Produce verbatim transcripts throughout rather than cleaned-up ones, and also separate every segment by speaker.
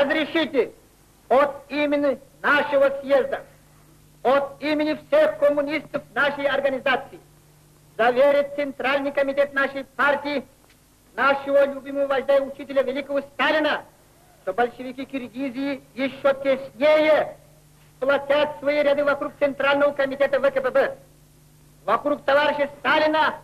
Speaker 1: разрешите от имени нашего съезда, от имени всех коммунистов нашей организации заверить Центральный комитет нашей партии, нашего любимого вождя и учителя великого Сталина, что большевики Киргизии еще теснее сплотят свои ряды вокруг Центрального комитета ВКПБ, вокруг товарища Сталина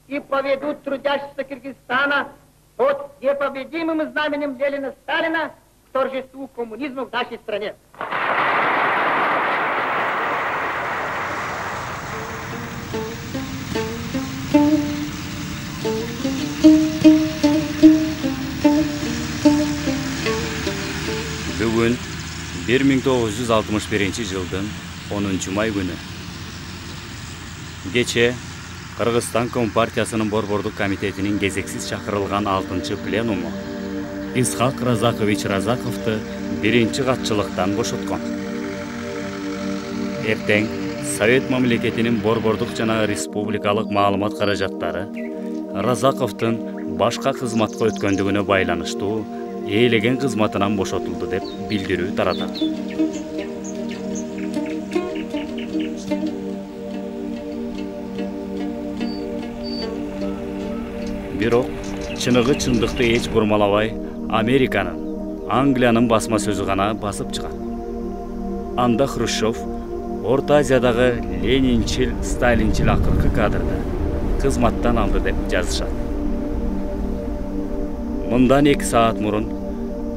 Speaker 1: и поведут трудящихся Киргизстана под непобедимым знаменем Ленина Сталина к торжеству коммунизма в нашей стране.
Speaker 2: Бүгүн бир миң тогуз жүз алтымыш биринчи жылдын онунчу май күнү. Кече Кыргызстан Компартиясынын Борбордук комитетинин кезексиз чакырылган алтынчы пленуму Исхак Разакович Разаковду биринчи катчылыктан бошоткон. Эртең Совет мамлекетинин борбордук жана республикалык маалымат каражаттары Разаковдун башка кызматка өткөндүгүнө байланыштуу ээлеген кызматынан бошотулду деп билдирүү таратат. Бирок чыныгы чындыкты эч бурмалабай Американын, Англиянын басма сөзү гана басып чыгат. Анда Хрущев Орто Азиядагы ленинчил, сталинчил акыркы кадрда кызматтан алды деп жазышат. Мындан эки саат мурун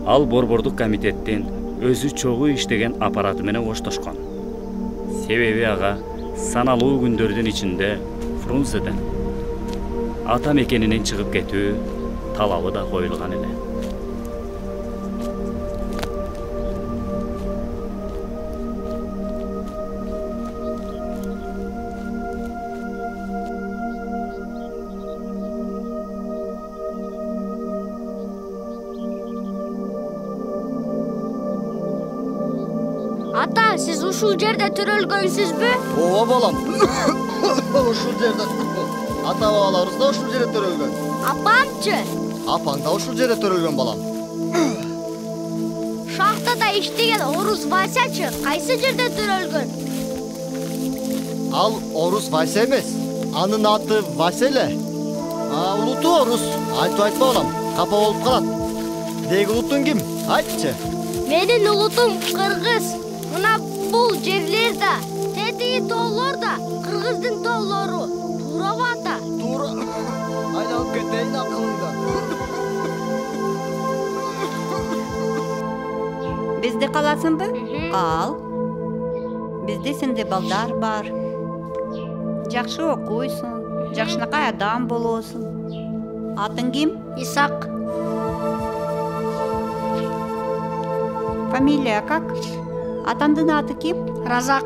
Speaker 2: ал борбордук комитеттин өзү чогуу иштеген аппараты менен коштошкон. Себеби ага саналуу күндөрдүн ичинде Фрунзеден ата мекенинен чыгып кетүү талабы да коюлган эле.
Speaker 3: Ата, сиз ушул жерде төрөлгөнсүзбү?
Speaker 4: Ооба балам. Ушул жерде. Ата бабаларыбыз да ушул жерде төрөлгөн.
Speaker 3: Апамчы?
Speaker 4: Апаң да ушул жерде төрөлгөн балам.
Speaker 3: Шахтада иштеген Орус Васячы кайсы жерде төрөлгөн?
Speaker 4: Ал Орус Вася эмес. Анын аты Вася эле. А улуту Орус. Айтып айтпа балам. Капа болуп калат. Деги улутуң ким? Айтчы.
Speaker 3: Менин улутум Кыргыз. Мына бул жерлерде, тетиги тоолорда Кыргыздын тоолору. Туурабы ата?
Speaker 4: Туура. Айланып кетейин акылыңда.
Speaker 5: Бизди каласыңбы? Кал. Бизде сенде балдар бар. Жакшы окуйсуң, жакшынакай адам болосуң. Атың ким?
Speaker 3: Исак.
Speaker 5: Фамилия как? Атаңдын аты ким?
Speaker 3: Разак.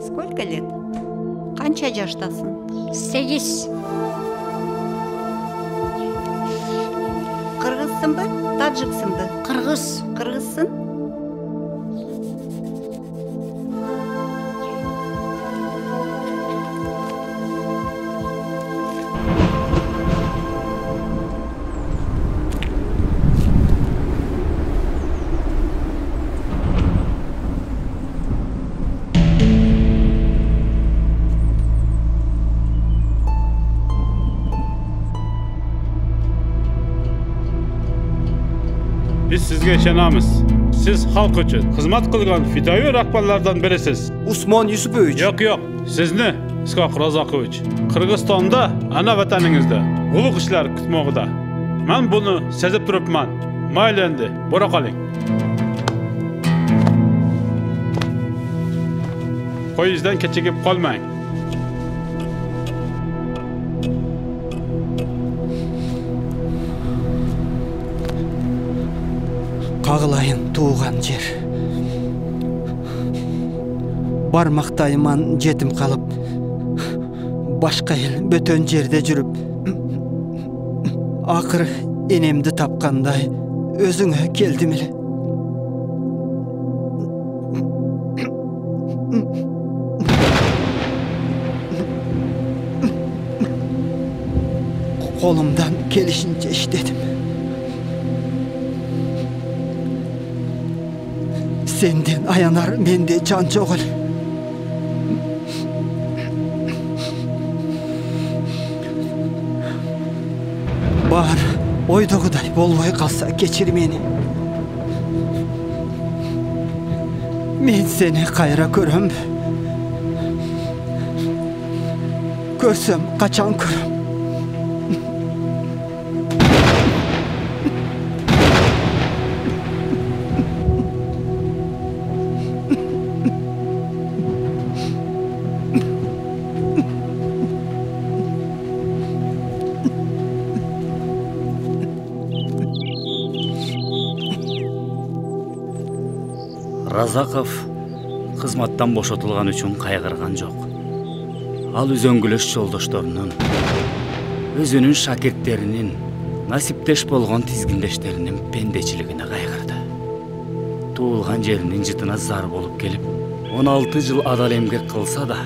Speaker 5: Сколько лет? Канча жаштасың?
Speaker 3: Сегиз.
Speaker 5: Кыргызсыңбы? Таджиксыңбы?
Speaker 3: Кыргыз.
Speaker 5: Кыргызсың?
Speaker 6: Biz sizge ишенабыз. Siz halk üçün hizmet kılgan fidai rahbarlardan birisiz.
Speaker 7: Usmon Yusupovich.
Speaker 6: Yok yok. Sizni Iskak Razakovich. Kırgızstanda, ana vataningizda ulug' ishlar kutmoqda. Men buni sezib turibman. Mayli endi, bora qoling. Poyezddan kechikib qolmang.
Speaker 7: Кагылайын тууган жер. Бармактайыман жетим калып, башка эл бөтөн жерде жүрүп, акыры энемди тапкандай өзүңө келдим эле. колумдан келишинче иштедим. Сенден аянар менде жан жок эле. Бар ойдогудай болбой калса кечир мени. Мен сени кайра көрөмбү? Көрсөм качан көрөм?
Speaker 2: Разаков кызматтан бошотулган үчүн кайгырган жок. Ал үзөңгүлөш жолдошторунун, өзүнүн шакирттеринин, насиптеш болгон тизгиндештеринин пендечилигине кайгырды. Туулган жеринин жытына зар болуп келип, он алты жыл адал эмгек кылса да,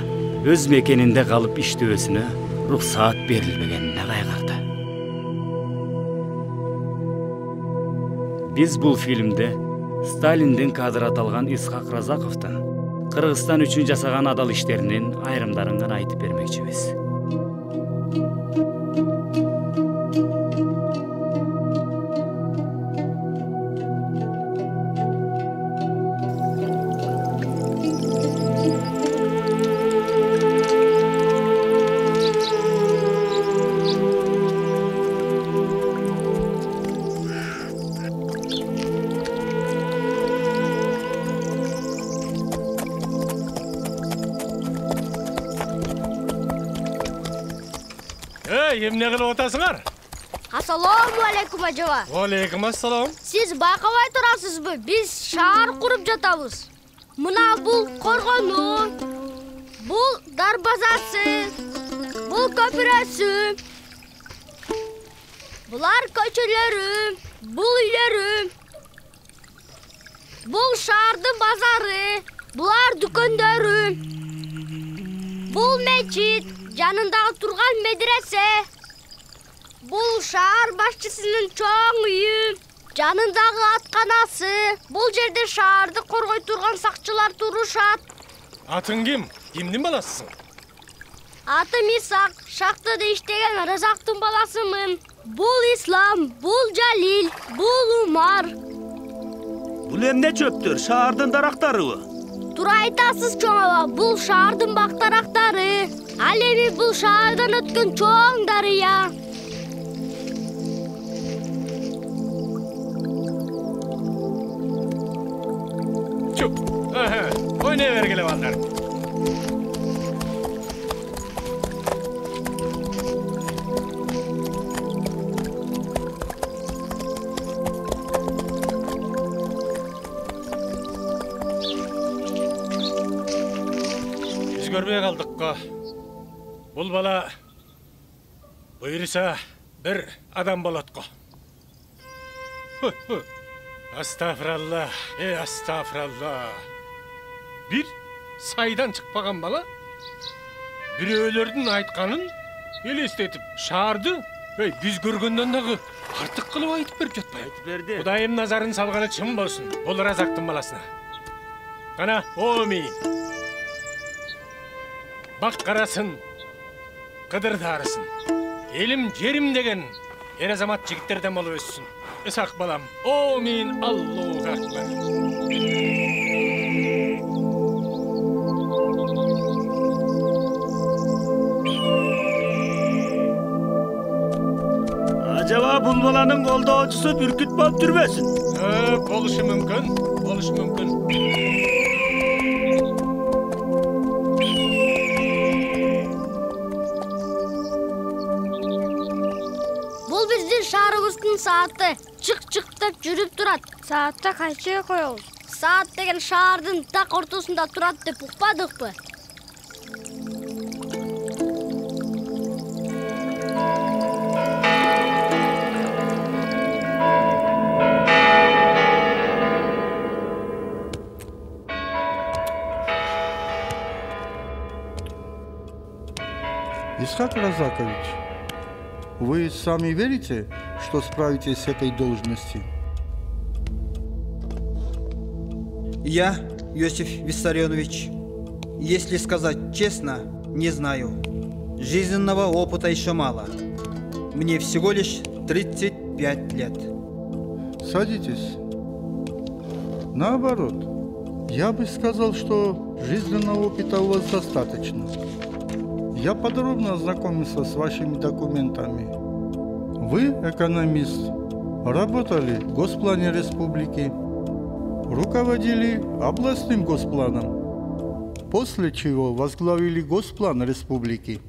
Speaker 2: өз мекенинде калып иштөөсүнө уруксаат берилбегенине кайгырды. Биз бул фильмде Сталиндин кадры аталган Исхак Разаковдун Кыргызстан үчүн жасаган адал иштеринин айрымдарын гана айтып бермекчибиз.
Speaker 8: Эмне кылып атасыңар?
Speaker 3: Ассаламу алейкум ажаба.
Speaker 8: Алейкум ассалам.
Speaker 3: Сиз байкабай турасызбы? Биз шаар куруп жатабыз. Мына бул коргону, бул дарбазасы, бул көпүрөсү, булар көчөлөрү, бул үйлөрү, бул шаардын базары, булар дүкөндөрү, бул мечит, жанындагы турган медресе, бул шаар башчысынын чоң үйү, жанындагы атканасы, бул жерде шаарды коргой турган сакчылар турушат.
Speaker 8: Атың ким? Кимдин баласысың?
Speaker 3: Атым Исак, шахтада иштеген Разактын баласымын. Бул Ислам, бул Жалил, бул Умар.
Speaker 9: Бул эмне чөптөр? Шаардын дарактарыбы?
Speaker 3: Туура айтасыз чоң аба, бул шаардын бактарактары. Ал эми бул шаардан өткөн чоң дарыя.
Speaker 8: Чуп. Ойнай бергиле балдар. Биз көрбөй калдык го. Бул бала буйруса бир адам болот го. Астафиралла, э астафиралла. Бир сайдан чыкпаган бала бирөөлөрдүн айтканын элестетип, шаарды эй биз көргөндөн дагы артык кылып айтып берип жатпайбы?
Speaker 9: Айтып берди.
Speaker 8: Кудайым назарын салганы чын болсун. Бул Разактын баласына. Кана, оми. Бак карасын, кыдырдарысын. Элим, жерим деген эр азамат жигиттерден болуп өссүн. Исак балам, омин, Аллаху акбар.
Speaker 9: Ажаба бул баланын колдоочусу бүркүт болуп жүрбөсүн?
Speaker 8: Э, болушу мүмкүн, болушу мүмкүн.
Speaker 3: Бул биздин шаарыбыздын сааты. Чык-чык деп жүрүп турат. Саатта кайчыга коебуз? Саат деген шаардын так ортосунда турат деп укпадыкпы?
Speaker 10: Исхак Разакович, Вы сами верите, что справитесь с этой должностью?
Speaker 7: Я, Иосиф Виссарионович, если сказать честно, не знаю. Жизненного опыта еще мало. Мне всего лишь тридцать пять лет.
Speaker 10: Садитесь. Наоборот, я бы сказал, что жизненного опыта у вас достаточно. Я подробно ознакомился с вашими документами. Вы экономист, работали в Госплане Республики, руководили областным госпланом, после чего возглавили Госплан Республики,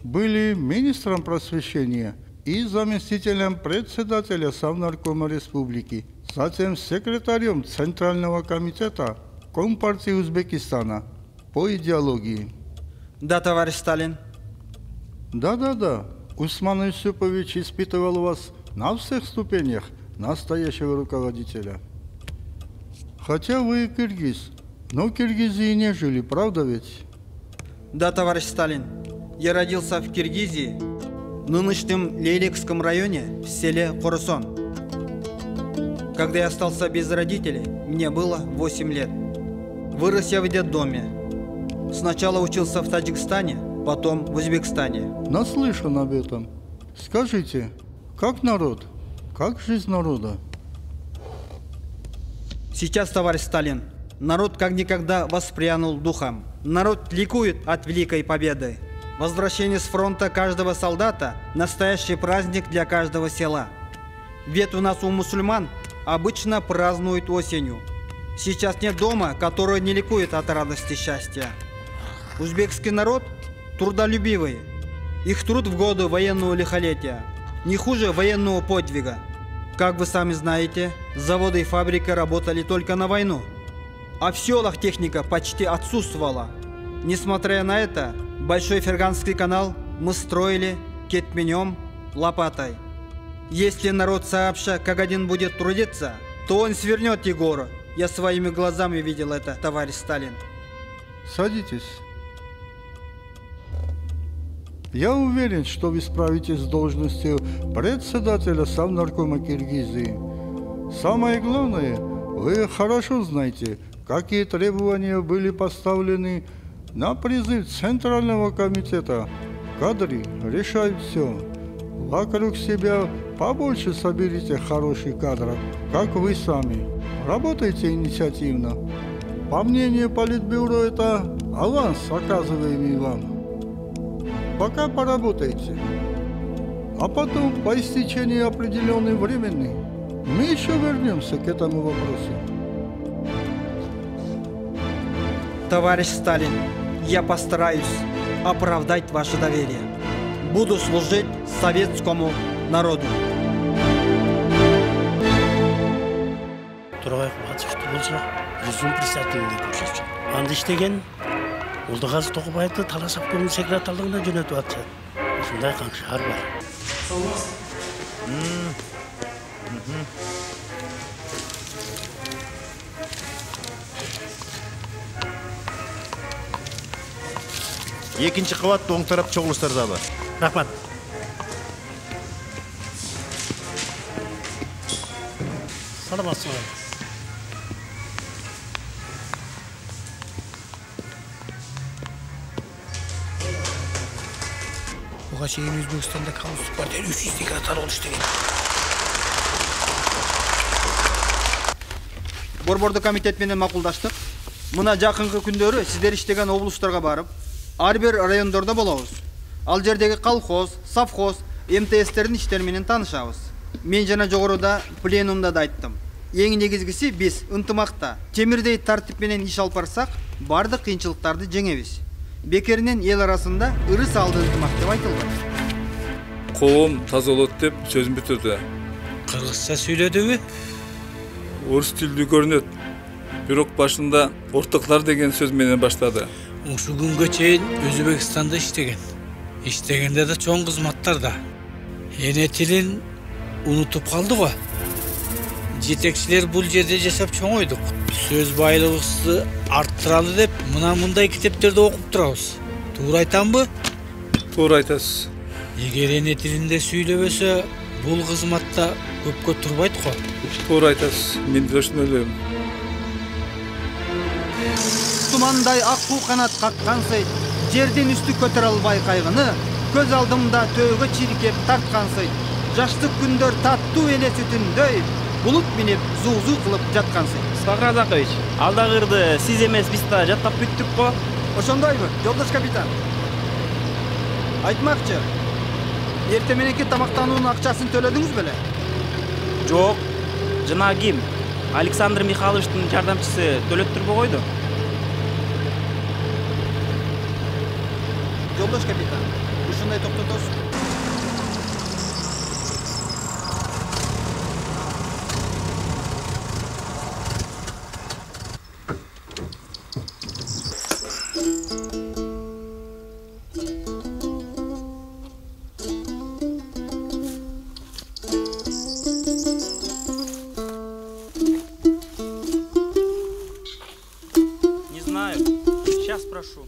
Speaker 10: были министром просвещения и заместителем председателя Совнаркома Республики, затем секретарем Центрального комитета Компартии Узбекистана по идеологии.
Speaker 7: Да, товарищ Сталин.
Speaker 10: Да-да-да, Усман Юсупович испытывал вас на всех ступенях настоящего руководителя. Хотя вы киргиз, но в Киргизии не жили, правда ведь?
Speaker 7: Да, товарищ Сталин. Я родился в Киргизии, в нынешнем Лейлекском районе, в селе Курусон. Когда я остался без родителей, мне было восемь лет. Вырос я в детдоме. Сначала учился в Таджикистане, потом в Узбекистане.
Speaker 10: Наслышан об этом. Скажите, как народ? Как жизнь народа?
Speaker 7: Сейчас, товарищ Сталин, народ как никогда воспрянул духом. Народ ликует от великой победы. Возвращение с фронта каждого солдата – настоящий праздник для каждого села. Ведь у нас у мусульман обычно празднуют осенью. Сейчас нет дома, который не ликует от радости и счастья. Узбекский народ трудолюбивый. Их труд в годы военного лихолетия не хуже военного подвига. Как вы сами знаете, заводы и фабрики работали только на войну, а в селах техника почти отсутствовала. Несмотря на это, Большой Ферганский канал мы строили кетменем, лопатой. Если народ сообща как один будет трудиться, то он свернет Егора. Я своими глазами видел это, товарищ Сталин.
Speaker 10: Садитесь. Я уверен, что вы справитесь с должностью председателя Совнаркома Киргизии. Самое главное, вы хорошо знаете, какие требования были поставлены на призыв Центрального комитета. Кадры решают все. Вокруг себя побольше соберите хороших кадров, как вы сами. Работайте инициативно. По мнению Политбюро, это аванс, оказываемый вам. Пока поработайте. А потом, по истечении определенного времени, мы еще вернемся к этому вопросу.
Speaker 7: Товарищ Сталин, я постараюсь оправдать ваше доверие. Буду служить советскому народу.
Speaker 9: Турабаев Батышевті болса, жүзім председателінде көрсетші. Анды іштеген, Олдығазы Тоқыбаевты Талас обкомының секретарлығына жөнетіп атшы. Осындай қаңшығар бар.
Speaker 11: Екінші қабат оң тарап чоғылыстарда бар.
Speaker 9: Рахмат. Саламатсыз. Буга чейин Өзбекстанда коммунисттик партия үч жүз секретар болуп иштеген.
Speaker 7: Борбордук комитет менен макулдаштык. Мына жакынкы күндөрү сиздер иштеген облустарга барып, ар бир райондордо болобуз. Ал жердеги колхоз, совхоз, эм тэ эстердин иштери менен таанышабыз. Мен жана жогоруда пленумда да айттым. Эң негизгиси биз ынтымакта, темирдей тартип менен иш алып барсак, бардык кыйынчылыктарды жеңебиз. Бекеринен эл арасында ыры салды ынтымак деп айтылды.
Speaker 12: Коом таза болот деп сөзүн бүтүрдү.
Speaker 9: Кыргызча сүйлөдүбү?
Speaker 12: Орус тилдүү көрүнөт. Бирок башында ортоклар деген сөз менен баштады.
Speaker 9: Ушу күнгө чейин Өзбекстанда иштеген. Иштегенде да чоң кызматтарда. Эне тилин унутуп калды го. Жетекчилер бул жерде жашап чоңойдук. Сөз байлыгыбызды арттыралы деп мына мындай китептерди окуп турабыз. Туура айтамбы?
Speaker 12: Туура айтасыз.
Speaker 9: Эгер эне тилинде сүйлөбөсө, бул кызматта көпкө турбайт го.
Speaker 12: Туура айтасыз. Мен да ошондой ойлойм.
Speaker 7: Тумандай ак куу канат каккансый, жерден үстү көтөрө албай кайгыны, көз алдымда төөгө чиркеп тарткансый. Жаштык күндөр таттуу эле сүтүндөй, булут минип зуу-зуу кылып жаткансый.
Speaker 13: Исхак Разакович, алдагырды сиз эмес биз да жаттап бүттүк го.
Speaker 7: Ошондойбу, жолдош капитан? Айтмакчы, эртең мененки тамактануунун акчасын төлөдүңүз беле?
Speaker 13: Жок. Жана ким? Александр Михайловичтин жардамчысы төлөттүрбөй койду.
Speaker 7: Жолдош капитан, ушундай токтотосуз.
Speaker 13: Не знаю. Сейчас спрошу.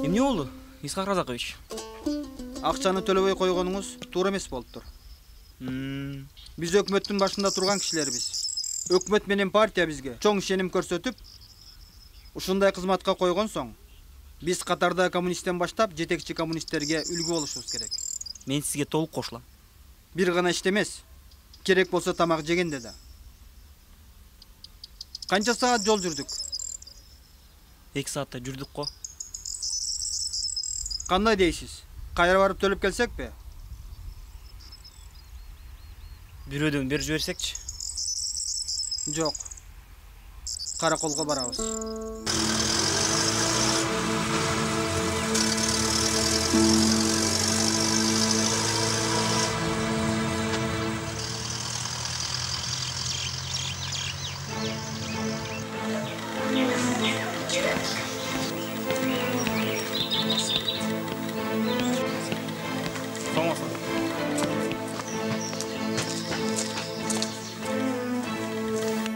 Speaker 13: Эмне болду, Исхак Разакович?
Speaker 7: Акчаны төлөбөй койгонуңуз туура эмес болуптур. Биз өкмөттүн башында турган кишилербиз. Өкмөт менен партия бизге чоң ишеним көрсөтүп, ушундай кызматка койгон соң, биз катарда коммунисттен баштап жетекчи коммунисттерге үлгү болушубуз керек.
Speaker 13: Мен сизге толук кошулам.
Speaker 7: Бир гана иште эмес, керек болсо тамак жегенде да. Канча саат жол жүрдүк?
Speaker 13: эки саатта жүрдүк го.
Speaker 7: Кандай дейсиз? Кайра барып төлөп келсекпи?
Speaker 13: Бирөөдөн бери жиберсекчи?
Speaker 7: Жок. Караколго барабыз.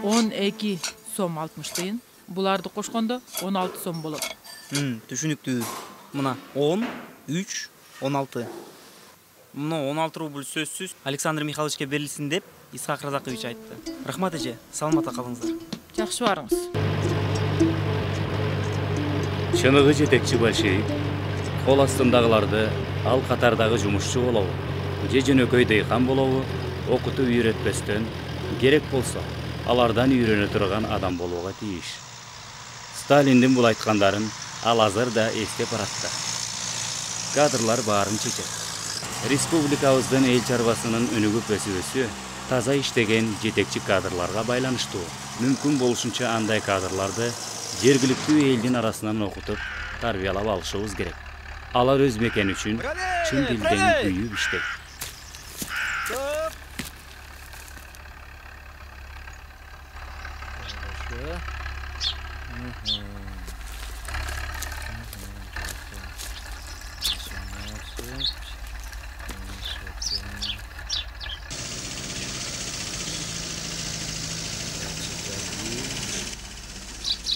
Speaker 14: он эки сом алтымыш тыйын. Буларды кошкондо он алты сом болот.
Speaker 13: Түшүнүктүү. Мына он, үч, он алты. Мына он алты рубль сөзсүз Александр Михайловичке берилсин деп Исхак Разакович айтты. Рахмат эже, саламатта калыңыздар.
Speaker 14: Жакшы барыңыз.
Speaker 2: Чыныгы жетекчи большевик кол астындагыларды ал катардагы жумушчу болобу, же жөнөкөй дейкан болобу, окутуп үйрөтпөстөн, керек болсо алардан үйрөнө турган адам болууга тийиш. Сталиндин бул айткандарын ал азыр да эстеп баратты. Кадрлар баарын чечет. Республикабыздын эл чарбасынын өнүгүп өсүбөсү таза иштеген жетекчи кадрларга байланыштуу. Мүмкүн болушунча андай кадрларды жергиликтүү элдин арасынан окутуп, тарбиялап алышыбыз керек. Алар өз мекени үчүн чын дилден күйүп иштейт.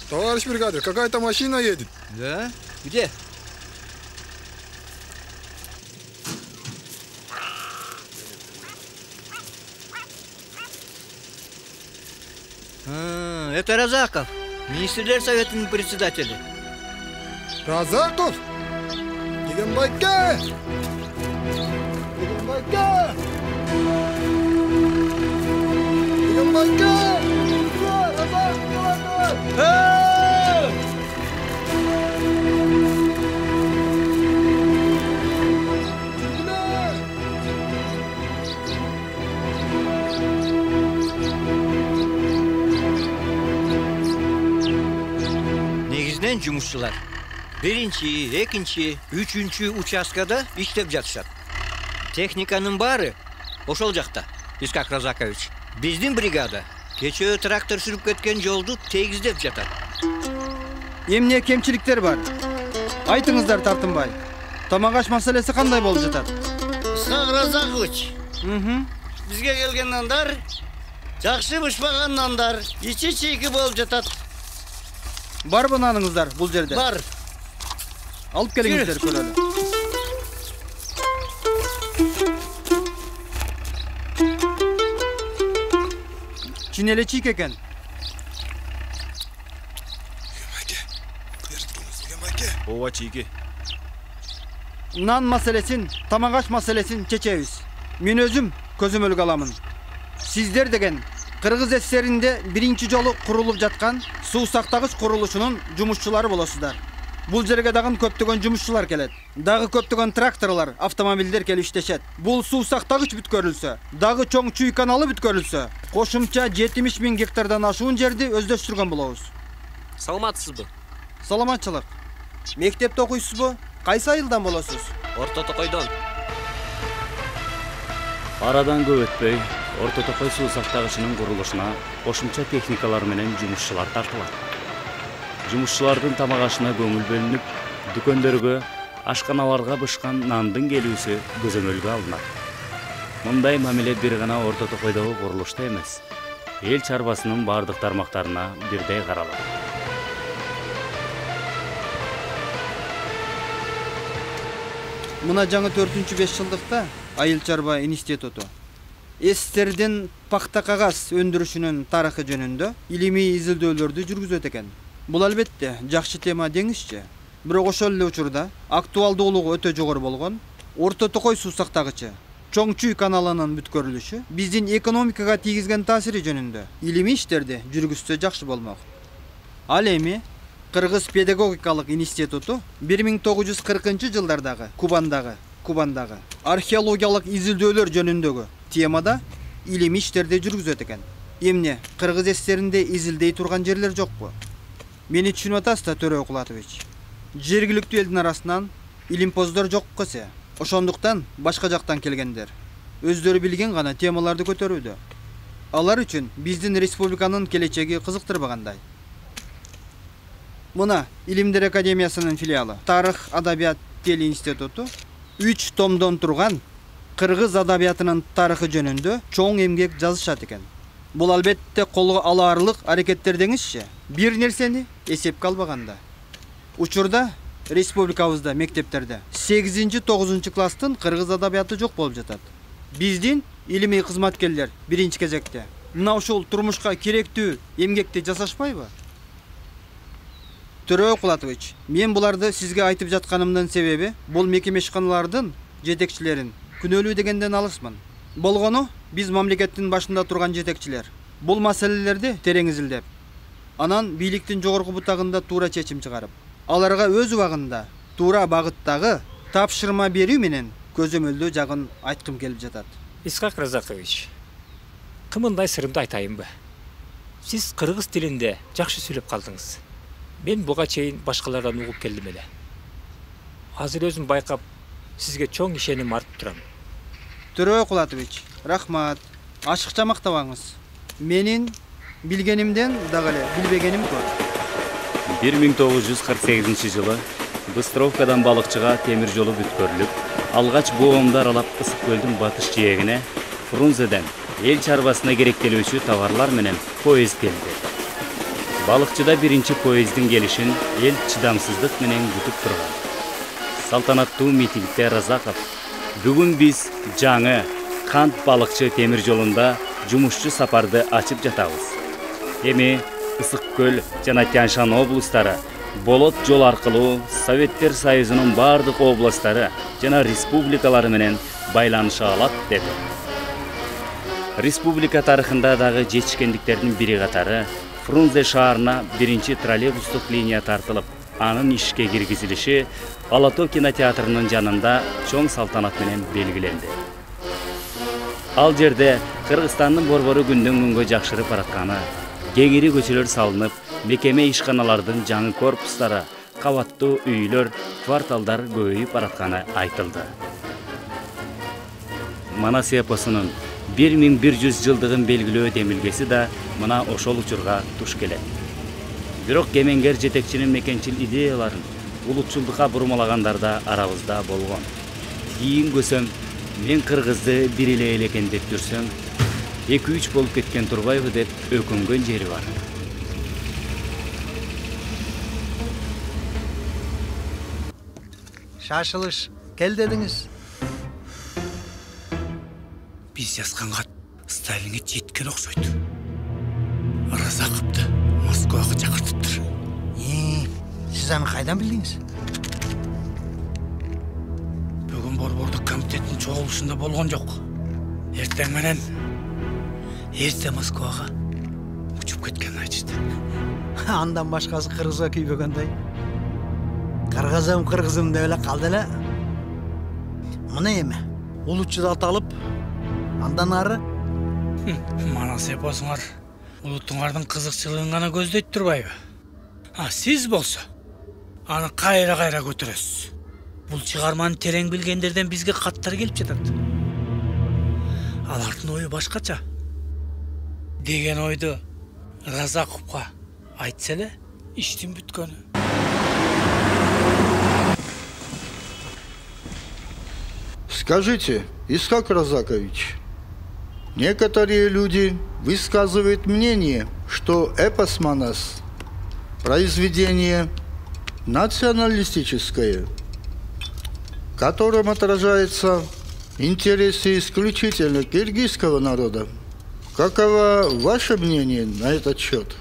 Speaker 15: Товарищ бригадир, какая-то машина едет.
Speaker 16: Да? Где? А, это Разаков, министрлер советінің председателі.
Speaker 15: Разаков? Дегенбайке! Дегенбайке! Дегенбайке! Разаков, давай, давай!
Speaker 16: Негизден жумушчулар биринчи, экинчи, үчүнчү участкада иштеп жатышат. Техниканын баары ошол жакта. Исхак Разакович, биздин бригада кечээ трактор сүрүп кеткен жолду тегиздеп жатат.
Speaker 7: Эмне кемчиликтер бар? Айтыңыздар тартынбай. Тамак аш маселеси кандай болуп жатат?
Speaker 16: Исхак Разакович, бизге келген нандар жакшы бышпаган нандар, ичи чийки болуп жатат.
Speaker 7: Барбы наныңыздар бул жерде?
Speaker 16: Бар.
Speaker 7: Алып келиңиздер көрөлү. Чын эле чийик экен.
Speaker 11: Ооба чийки.
Speaker 7: Нан маселесин, тамак аш маселесин чечебиз. Мен өзүм көзөмөлгө аламын. Сиздер деген Кыргыз ССРинде биринчи жолу курулуп жаткан суу сактагыч курулушунун жумушчулары болосуздар. Бул жерге дагы көптөгөн жумушчулар келет. Дагы көптөгөн тракторлор, автомобилдер келип иштешет. Бул суу сактагыч бүткөрүлсө, дагы чоң Чүй каналы бүткөрүлсө, кошумча жетимиш миң гектардан ашуун жерди өздөштүргөн болобуз.
Speaker 17: Саламатсызбы?
Speaker 7: Саламатчылык. Мектепте окуйсузбу? Кайсы айылдан болосуз?
Speaker 17: Орто Токойдон.
Speaker 2: Арадан көп өтпөй, Орто Токой суу сактагычынын курулушуна кошумча техникалар менен жумушчулар тартылат. Жумушчулардын тамак ашына көңүл бөлүнүп, дүкөндөргө, ашканаларга бышкан нандын келүүсү көзөмөлгө алынат. Мындай мамиле бир гана Орто Токойдогу курулушта эмес, эл чарбасынын бардык тармактарына бирдей каралат.
Speaker 7: Мына жаңы төртүнчү беш жылдыкта Айыл чарба институту СССРдин пахта кагаз өндүрүшүнүн тарыхы жөнүндө илимий изилдөөлөрдү жүргүзөт экен. Бул албетте жакшы тема деңизчи. Бирок ошол эле учурда актуалдуулугу өтө жогору болгон Орто Токой суу сактагычы Чоң Чүй каналынын бүткөрүлүшү биздин экономикага тийгизген таасири жөнүндө илимий иштерди жүргүзсө жакшы болмок. Ал эми Кыргыз педагогикалык институту бир миң тогуз жүз кыркынчы жылдардагы Кубандагы Кубандагы археологиялык изилдөөлөр жөнүндөгү темада илимий иштерди жүргүзөт экен. Эмне Кыргыз ССРинде изилдей турган жерлер жокпу? Мени түшүнүп атасыз да, Төрө Окулатович. Жергиликтүү элдин арасынан илимпоздор жок кесе. Ошондуктан башка жактан келгендер өздөрү билген гана темаларды көтөрүүдө. Алар үчүн биздин республиканын келечеги кызыктырбагандай. Мына Илимдер академиясынын филиалы Тарых адабият тел институту үч томдон турган Кыргыз адабиятынын тарыхы жөнүндө чоң эмгек жазышат экен. Бул албетте колго алаарлык аракеттер деңизчи. Бир нерсени эсепке албаганда. Учурда республикабызда мектептерде сегизинчи тогузунчу класстын кыргыз адабияты жок болуп жатат. Биздин илимий кызматкерлер биринчи кезекте мына ушул турмушка керектүү эмгекти жасашпайбы? Төрө Окулатович, мен буларды сизге айтып жатканымдын себеби бул мекеме ишканалардын жетекчилерин күнөөлүү дегенден алысмын. Болгону биз мамлекеттин башында турган жетекчилер бул маселелерди терең изилдеп, анан бийликтин жогорку бутагында туура чечим чыгарып, аларга өз убагында туура багыттагы тапшырма берүү менен көзөмөлдөө жагын айткым келип жатат.
Speaker 8: Исхак Разакович, кымындай сырымды айтайынбы? Сиз кыргыз тилинде жакшы сүйлөп калдыңыз. Мен буга чейин башкалардан угуп келдим эле. Азыр өзүм байкап, сизге чоң ишеним артып турам.
Speaker 7: Төрө Окулатович, рахмат. Ашыкча мактабаңыз. Менин билгенимден дагы эле билбегеним көп.
Speaker 2: бир миң тогуз жүз кырк сегизинчи жылы Быстровкадан балыкчыга темир жолу бүткөрүлүп, алгач боомду аралап Ысык көлдүн батыш жээгине Фрунзеден эл чарбасына керектелүүчү товарлар менен поезд келди. Балыкчыда биринчи поездин келишин эл чыдамсыздык менен күтүп турган. Салтанаттуу митингде Разаков: "Бүгүн биз жаңы Кант балыкчы темир жолунда жумушчу сапарды ачып жатабыз. Эми Ысык көл жана Тянь-Шань облустары болот жол аркылуу Советтер Союзунун бардык областтары жана республикалары менен байланыша алат" деди. Республика тарыхында дагы жетишкендиктердин бири катары Фрунзе шаарына биринчи троллейбустук линия тартылып, анын ишке киргизилиши Ала Тоо кинотеатрынын жанында чоң салтанат менен белгиленди. Ал жерде Кыргызстандын борбору күндөн күнгө жакшырып баратканы, кеңири көчөлөр салынып, мекеме ишканалардын жаңы корпустары, кабаттуу үйлөр, кварталдар көбөйүп баратканы айтылды. Манас эпосунун бир миң бир жүз жылдыгын белгилөө демилгеси да мына ошол учурга туш келет. Бирок кемеңгер жетекчинин мекенчил идеяларын улутчулдукка бурмалагандар да арабызда болгон. Кийин көсөм, мен кыргызды бир эле эл экен деп жүрсөм, эки үч болуп кеткен турбайбы деп өкүнгөн жери бар.
Speaker 18: шашылыш кел дедиңиз.
Speaker 9: Биз жазган кат Сталинге жеткен окшойт. Разаковду Москвага чакыртыптыр.
Speaker 18: Э, сиз аны кайдан билдиңиз?
Speaker 9: Бүгүн борбордук комитеттин чогулушунда болгон жок. Эртең менен эрте Москвага учуп кеткенин айтышты.
Speaker 18: Андан башкасы кыргызга күйбөгөндөй. Кыргызым, кыргызым деп эле калды эле. Мына эми улутчуду аталып, андан ары
Speaker 9: манас эпосуңар улуттуңардын кызыкчылыгын гана көздөйт турбайбы? А сиз болсо аны кайра-кайра көтөрөсүз. Бул чыгарманы терең билгендерден бизге каттар келип жатат. Алардын ою башкача деген ойду Разаковго айтса эле иштин бүткөнү.
Speaker 10: Скажите, Исхак Разакович, некоторые люди высказывают мнение, что эпос Манас – произведение националистическое, в котором отражаются интересы исключительно киргизского народа. Каково ваше мнение на этот счет?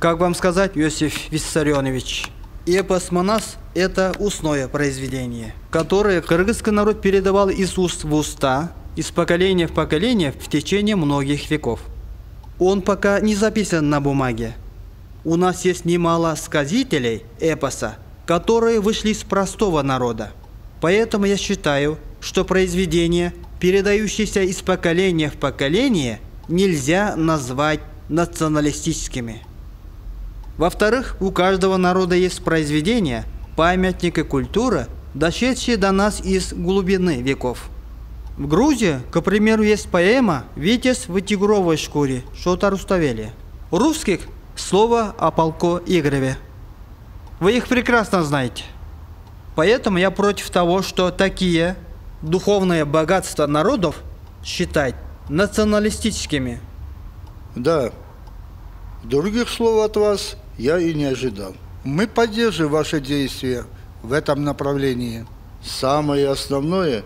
Speaker 7: Как вам сказать, Иосиф Виссарионович, эпос Манас – это устное произведение, которое кыргызский народ передавал из уст в уста, из поколения в поколение в течение многих веков. Он пока не записан на бумаге. У нас есть немало сказителей эпоса, которые вышли из простого народа. Поэтому я считаю, что произведения, передающиеся из поколения в поколение, нельзя назвать националистическими. Во-вторых, у каждого народа есть произведения, памятники культуры, дошедшие до нас из глубины веков. В Грузии, к примеру, есть поэма «Витязь в тигровой шкуре» Шота Руставели. У русских слово о полку Игореве. Вы их прекрасно знаете. Поэтому я против того, что такие духовные богатства народов считать националистическими.
Speaker 10: Да, других слов от вас я и не ожидал. Мы поддерживаем ваши действия в этом направлении. Самое основное,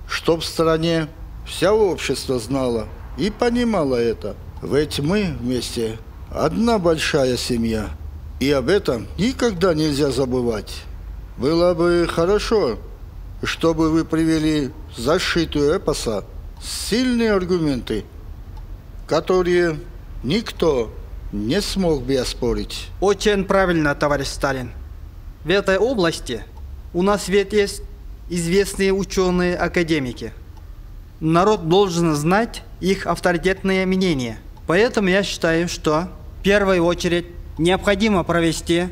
Speaker 10: чтоб в стране вся общество знало и понимало это. Ведь мы вместе одна большая семья. И об этом никогда нельзя забывать. Было бы хорошо, чтобы вы привели в защиту эпоса сильные аргументы, которые никто не смог бы оспорить.
Speaker 7: Очень правильно, товарищ Сталин. В этой области у нас ведь есть известные ученые-академики. Народ должен знать их авторитетное мнение. Поэтому я считаю, что в первую очередь необходимо провести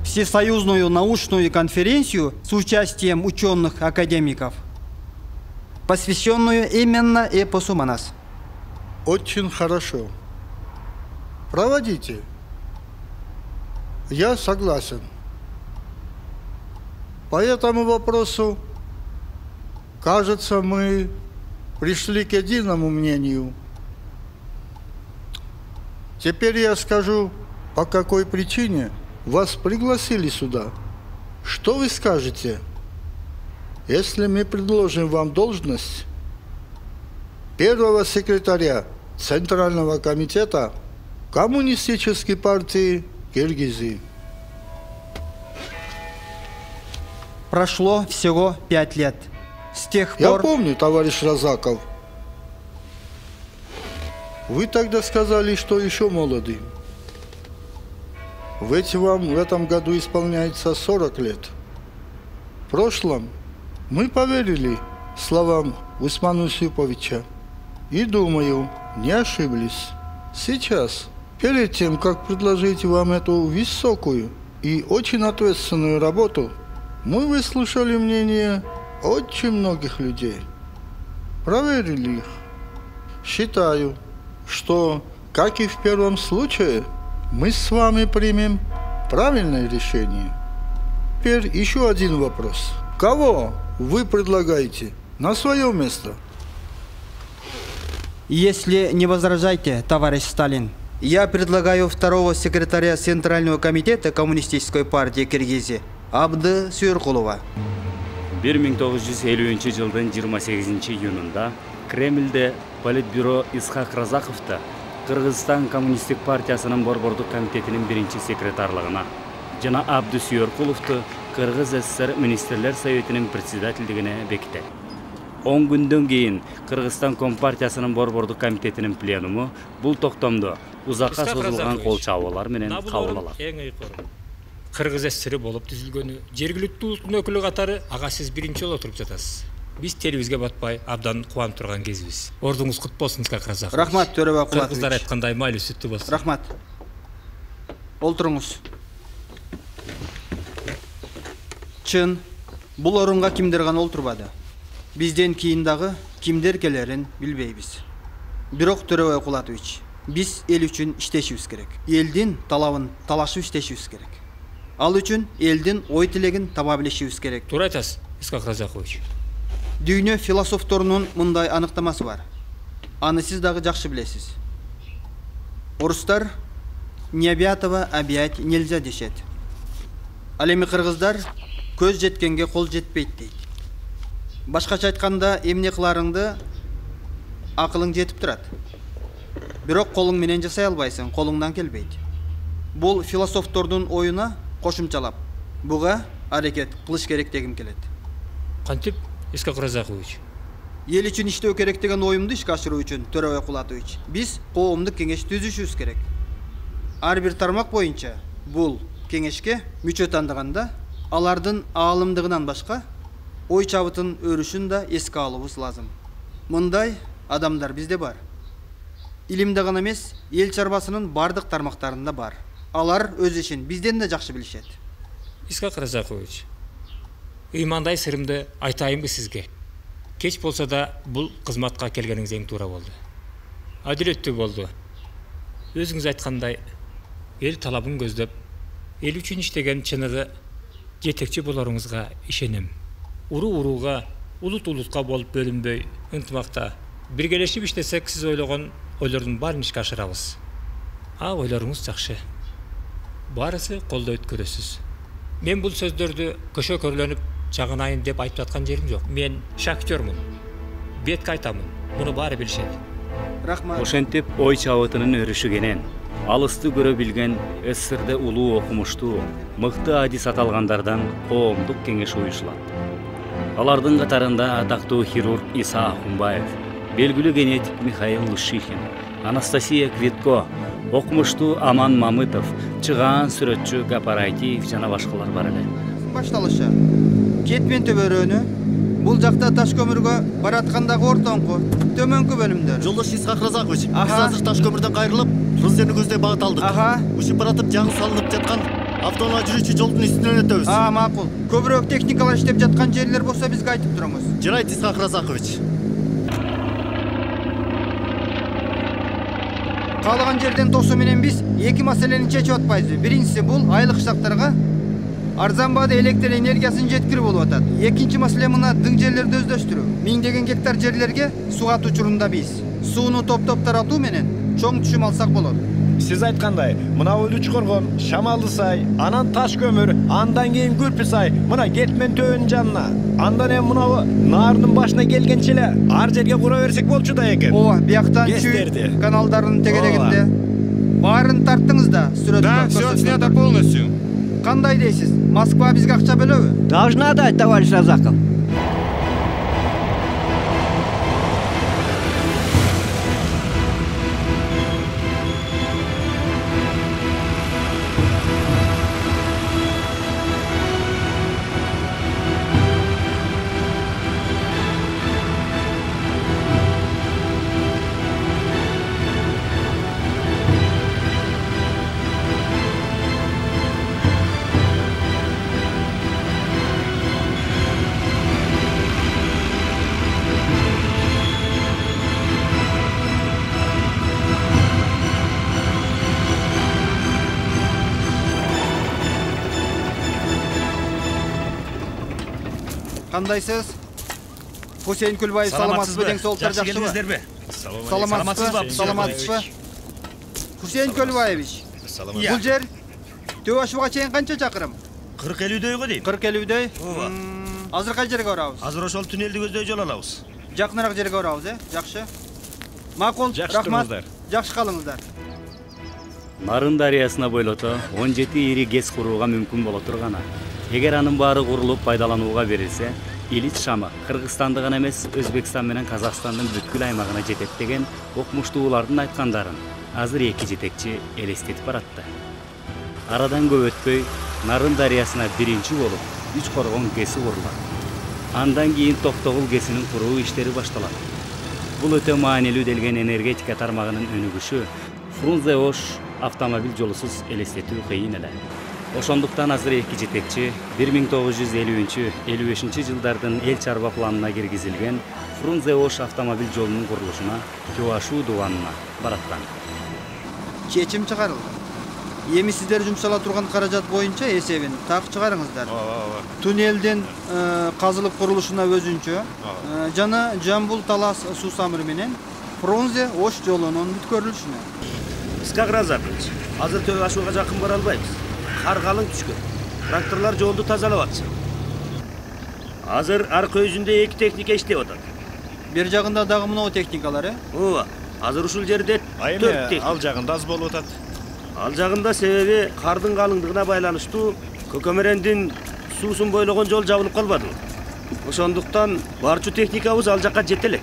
Speaker 7: всесоюзную научную конференцию с участием ученых-академиков, посвященную именно эпосу Манас.
Speaker 10: Очень хорошо. Проводите. Я согласен. По этому вопросу, кажется, мы пришли к единому мнению. Теперь я скажу, по какой причине вас пригласили сюда. Что вы скажете, если мы предложим вам должность первого секретаря Центрального комитета Коммунистической партии Киргизии?
Speaker 7: Прошло всего пять лет. С тех
Speaker 10: Я
Speaker 7: пор...
Speaker 10: помню, товарищ Разаков. Вы тогда сказали, что еще молоды. Ведь вам в этом году исполняется сорок лет. В прошлом мы поверили словам Усмана Юсуповича и, думаю, не ошиблись. Сейчас, перед тем, как предложить вам эту высокую и очень ответственную работу, мы выслушали мнение очень многих людей, проверили их. Считаю, что, как и в первом случае, мы с вами примем правильное решение. Теперь еще один вопрос. Кого вы предлагаете на свое место?
Speaker 7: Если не возражаете, товарищ Сталин, я предлагаю второго секретаря Центрального комитета Коммунистической партии Киргизии Абды Сүйөркулова.
Speaker 2: бир миң тогуз жүз элүүнчү жылдын жыйырма сегизинчи июнунда Кремльде Политбюро Исхак Разаковду Кыргызстан Коммунисттик партиясынын борбордук комитетинин биринчи секретарлыгына жана Абды Сүйөркуловду Кыргыз СССР Министрлер Советинин председательдигине бекитет. он күндөн кийин Кыргызстан Компартиясынын борбордук комитетинин пленуму бул токтомду узакка созулган кол чабуулар менен кабыл алат.
Speaker 8: Эң ыйкыруу Кыргыз СССР болуп түзүлгөнү жергиликтүү улуттун өкүлү катары ага сиз биринчи жолу отуруп жатасыз. Биз телибизге батпай абдан кубанып турган кезибиз. Ордуңуз кут болсун, Исхак Разакович.
Speaker 7: Рахмат, Төрөбай Кулатович.
Speaker 8: Кыргыздар айткандай майлы сүттүү болсун.
Speaker 7: Рахмат. Олтуруңуз. Чын, бул орунга кимдер гана олтурбады. Бизден кийин дагы кимдер келерин билбейбиз. Бирок Төрөбай Кулатович, биз эл үчүн иштешибиз керек. Элдин талабын талашып иштешибиз керек. Ал үчүн элдин ой тилегин таба билишибиз керек.
Speaker 8: Туура айтасыз, Исхак Разакович.
Speaker 7: Дүйнө философторунун мындай аныктамасы бар. Аны сиз дагы жакшы билесиз. Орустар не объятого объять нельзя дешет. Ал эми кыргыздар көз жеткенге кол жетпейт дейт. Башкача айтканда, эмне кыларыңды акылың жетип турат. Бирок колуң менен жасай албайсың, колуңдан келбейт. Бул философтордун оюна кошумчалап, буга аракет кылыш керек дегим келет.
Speaker 8: Кантип, Исхак Разакович?
Speaker 7: Ел үчүн иштөө керек деген оюмду ишке ашыруу үчүн, Төрөбай Кулатович, биз коомдук кеңеш түзүшүбүз керек. Ар бир тармак боюнча бул кеңешке мүчө тандаганда алардын аалымдыгынан башка ой чабытын өрүшүн да эске алуубуз лазым. Мындай адамдар бизде бар. Илимде гана эмес, эл чарбасынын бардык тармактарында бар. Алар өз ишин бизден да жакшы билишет.
Speaker 8: Исхак Разакович, ыймандай сырымды айтайынбы сизге? Кеч болсо да бул кызматка келгениңиз эң туура болду. Адилеттүү болду. Өзүңүз айткандай, эл талабын көздөп, эл үчүн иштеген чыныгы жетекчи болоруңузга ишенем. Уру-урууга, улут-улутка болуп бөлүнбөй, ынтымакта биргелешип иштесек, сиз ойлогон ойлордун баарын ишке ашырабыз. А ойлоруңуз жакшы. Баарысы колдойт көрөсүз. Мен бул сөздөрдү көшө көрлөнүп жагынайын деп айтып аткан жерим жок. Мен шахтёрмун. Бетке айтамын. Муну баары билишет.
Speaker 7: Рахмат.
Speaker 2: Ошентип ой чабытынын өрүшү кенен алысты көрө билген СССРде улуу окумуштуу, мыкты адис аталгандардан коомдук кеңеш уюшулат. Алардын катарында атактуу хирург Иса Ахунбаев, белгилүү генетик Михаил Лушихин, Анастасия Квитко, окумуштуу Аман Мамытов, чыгаан сүрөтчү Гапар Айтиев жана башкалар бар эле.
Speaker 7: Башталышы. Кетмен төбөрөнү бул жакта таш көмүргө бараткандагы ортоңку төмөнкү бөлүмдөр.
Speaker 4: Жолдош Исхак Разакович, биз азыр таш көмүрдөн кайрылып, Турузерни көздөй багыт алдык.
Speaker 7: Ага.
Speaker 4: Учуп баратып жаңы салынып жаткан автоунаа жүрүүчү жолдун үстүнөн өтөбүз.
Speaker 7: А, макул. Көбүрөөк техникалар иштеп жаткан жерлер болсо бизге айтып туруңуз.
Speaker 4: Жарайт, Исхак Разакович.
Speaker 7: Каалаган жерден тосуу менен биз эки маселени чечип атпайбызбы? Биринчиси бул айлык штаттарга арзан баада электр энергиясын жеткирүү болуп атат. Экинчи маселе мына дың жерлерди өздөштүрүү. Миңдеген гектар жерлерге суу ат учурунда биз сууну топ-топ таратуу менен чоң түшүм алсак болот.
Speaker 19: Сиз айткандай, мына Үлүч коргон, Шамалды сай, анан Таш көмүр, андан кийин Күлпү сай, мына Кетмен төбөнүн жанына. Андан эми мына Наардын башына келгенче эле ар жерге кура берсек болчу да экен.
Speaker 7: Ооба, бияктан чүй каналдардын тегерегинде. Баарын тарттыңыз да, сүрөт.
Speaker 11: Да, всё снято полностью.
Speaker 7: Кандай дейсиз? Москва бизге акча бөлөбү?
Speaker 18: Должна дать, товарищ Разаков.
Speaker 7: Кандайсыз? Хусейн Күлбаев саламатсызбы? Дең соолуктар жакшыбы? Саламатсызбы? Саламатсызбы? Хусейн Күлбаевич. Бул жер Төбашууга чейин канча чакырым?
Speaker 20: кырк элүүдөй го дейм.
Speaker 7: кырк элүүдөй?
Speaker 20: Ооба.
Speaker 7: Азыр кай жерге барабыз?
Speaker 20: Азыр ошол туннелди көздөй жол алабыз.
Speaker 7: Жакыныраак жерге барабыз, э? Жакшы. Макул, рахмат. Жакшы калыңыздар.
Speaker 2: Нарын дарыясына бойлото он жети ири гэс курууга мүмкүн боло турганы. Эгер анын баары курулуп пайдаланууга берилсе, Илич шамы Кыргызстанды гана эмес, Өзбекстан менен Казакстандын бүткүл аймагына жетет деген окумуштуулардын айткандарын азыр эки жетекчи элестетип баратты. Арадан көп өтпөй Нарын дарыясына биринчи болуп үч коргон гэси курулат. Андан кийин Токтогул гэсинин куруу иштери башталат. Бул өтө маанилүү делген энергетика тармагынын өнүгүшү Фрунзе-Ош автомобиль жолусуз элестетүү кыйын эле. Ошондуктан азыр эки жетекчи бир миң тогуз жүз элүүнчү элүү бешинчи жылдардын эл чарба планына киргизилген Фрунзе-Ош автомобиль жолунун курулушуна Кёашу дубанына бараттан.
Speaker 7: Чечим чыгарылды. Эми сиздер жумшала турган каражат боюнча эсебин так чыгарыңыздар. Туннелдин казылып курулушуна өзүнчө жана Жамбул Талас суу самыры менен Фрунзе-Ош жолунун бүткөрүлүшүнө.
Speaker 20: Искак Разакович, азыр Төө Ашууга жакын бара албайбыз. Кар калың түшкөн. Тракторлор жолду тазалап атышат. Азыр арка өзүндө эки техника иштеп атат.
Speaker 7: Бер жагында дагы мынау техникалар, э?
Speaker 20: Ооба. Азыр ушул жерде төрт техника.
Speaker 19: Ал жагында аз болуп атат.
Speaker 20: Ал жагында себеби кардын калыңдыгына байланыштуу Көкөмөрөндүн суусун бойлогон жол жабылып калбады. Ошондуктан барчу техникабыз ал жакка жете элек.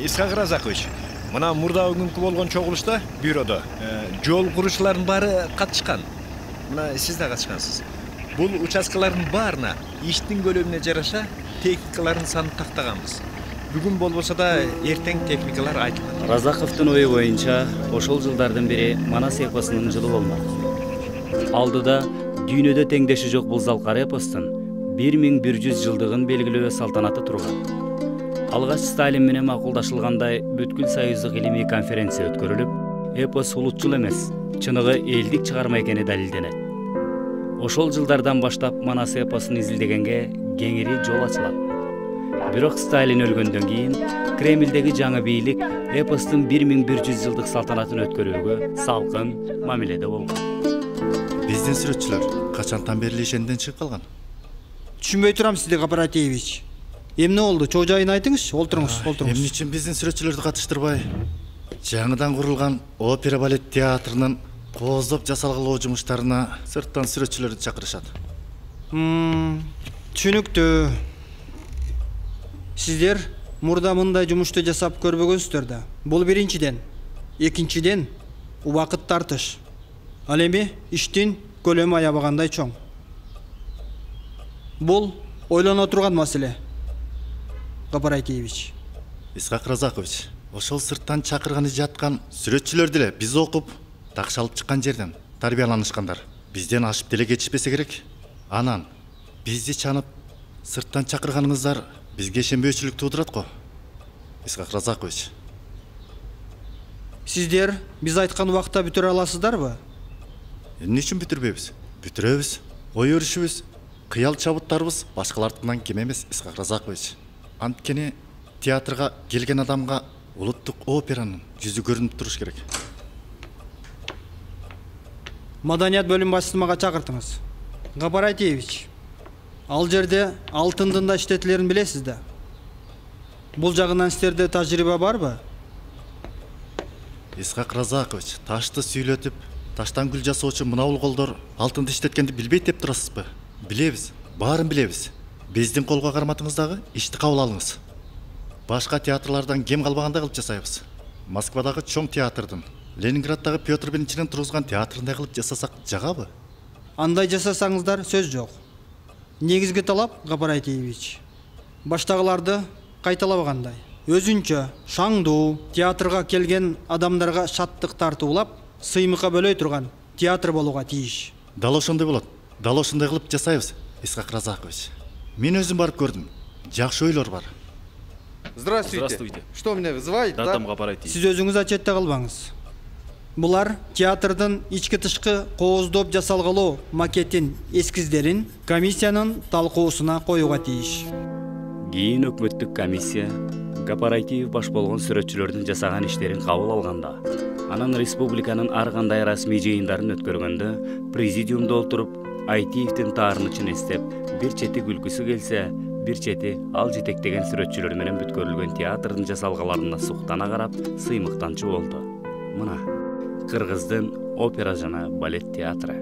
Speaker 19: Искак Разакович, мына мурда күнкү болгон чогулушта бюродо жол курушчулардын баары катышкан. Мына сиз да катышкансыз. Бул участкалардын баарына иштин көлөмүнө жараша техникалардын санын тактаганбыз. Бүгүн болбосо да эртең техникалар айтылат.
Speaker 2: Разаковдун ою боюнча ошол жылдардын бири Манас эпосунун жылы болмок. Алдыда дүйнөдө теңдеши жок бул залкар эпостун бир миң бир жүз жылдыгын белгилөө салтанаты турган. Алгач Сталин менен макулдашылгандай бүткүл союздук илимий конференция өткөрүлүп, эпос улутчул эмес, чыныгы элдик чыгарма экени далилденет. Ошол жылдардан баштап Манас эпосун изилдегенге кеңири жол ачылат. Бирок Сталин өлгөндөн кийин Кремлдеги жаңы бийлик эпостун бир миң бир жүз жылдык салтанатын өткөрүүгө салкын мамиледе болгон.
Speaker 21: Биздин сүрөтчүлөр качантан бери ишенден чыгып калган?
Speaker 7: Түшүнбөй турам сизди, Кооперативич. Эмне болду? Чоо жайын айтыңыз, олтуруңуз, олтуруңуз.
Speaker 21: Эмне үчүн биздин сүрөтчүлөрдү катыштырбай жаңыдан курулган опера балет театрынын кооздоп жасалгылоо жумуштарына сырттан сүрөтчүлөрдү чакырышат?
Speaker 7: Түшүнүктүү. Сиздер мурда мындай жумушту жасап көрбөгөнсүздөр да. Бул биринчиден. Экинчиден, убакыт тартыш. Ал эми иштин көлөмү аябагандай чоң. Бул ойлоно турган маселе. Кооперативич.
Speaker 21: Искак Разакович, ошол сырттан чакырганы жаткан сүрөтчүлөр деле биз окуп, такшалып чыккан жерден тарбияланышкандар. Бизден ашып деле кетишпесе керек. Анан бизди чанып сырттан чакырганыңыздар бизге ишенбөөчүлүк туудурат го. Искак Разакович.
Speaker 7: Сиздер биз айткан убакта бүтүрө аласыздарбы?
Speaker 21: Эмне үчүн бүтүрбөйбүз? Бүтүрөбүз. Ой өрүшүбүз, кыял чабыттарыбыз башкалардын кем эмес, Искак Разакович. Анткени театрга келген адамга улуттук операнын жүзү көрүнүп туруш керек.
Speaker 7: Маданият бөлүм башчысын мага чакыртыңыз. Кооперативич. Ал жерде алтындын да иштетилерин билесиз да. Бул жагынан сиздерде тажрыйба барбы?
Speaker 21: Искак Разакович, ташты сүйлөтүп, таштан гүл жасоочу мынабул колдор алтынды иштеткенди билбейт деп турасызбы? Билебиз, баарын билебиз. Биздин колго карматыңыздагы ишти кабыл алыңыз. Башка театрлардан кем калбагандай кылып жасайбыз. Москвадагы чоң театрдын, Ленинграддагы Петр биринчинин тургузган театрындай кылып жасасак жагабы?
Speaker 7: Андай жасасаңыздар сөз жок. Негизги талап, Кооперативич, баштагыларды кайталабагандай. Өзүнчө шаңдуу театрга келген адамдарга шаттык тартуулап, сыймыкка бөлөй турган театр болууга тийиш.
Speaker 21: Дал ошондой болот. Дал ошондой кылып жасайбыз, Искак Разакович. Мен өзүм барып көрдүм. Жакшы ойлор бар.
Speaker 22: Здравствуйте.
Speaker 21: Здравствуйте.
Speaker 22: Что меня вызывает?
Speaker 21: Да,
Speaker 22: да?
Speaker 21: там Кооператив.
Speaker 7: Сиз өзүңүз отчетте калбаңыз. Булар театрдын ички тышкы кооздоп жасалгылоо макетин эскиздерин комиссиянын талкуусуна коюуга тийиш.
Speaker 2: Кийин өкмөттүк комиссия Кооператив баш болгон сүрөтчүлөрдүн жасаган иштерин кабыл алганда, анан республиканын ар кандай расмий жыйындарын өткөргөндө президиумда отуруп Айтиевдин таарынычын эстеп, бир чети күлкүсү келсе, бир чети ал жетектеген сүрөтчүлөр менен бүткөрүлгөн театрдын жасалгаларына суктана карап, сыймыктанчу болду. Мына, Кыргыздын опера жана балет театры.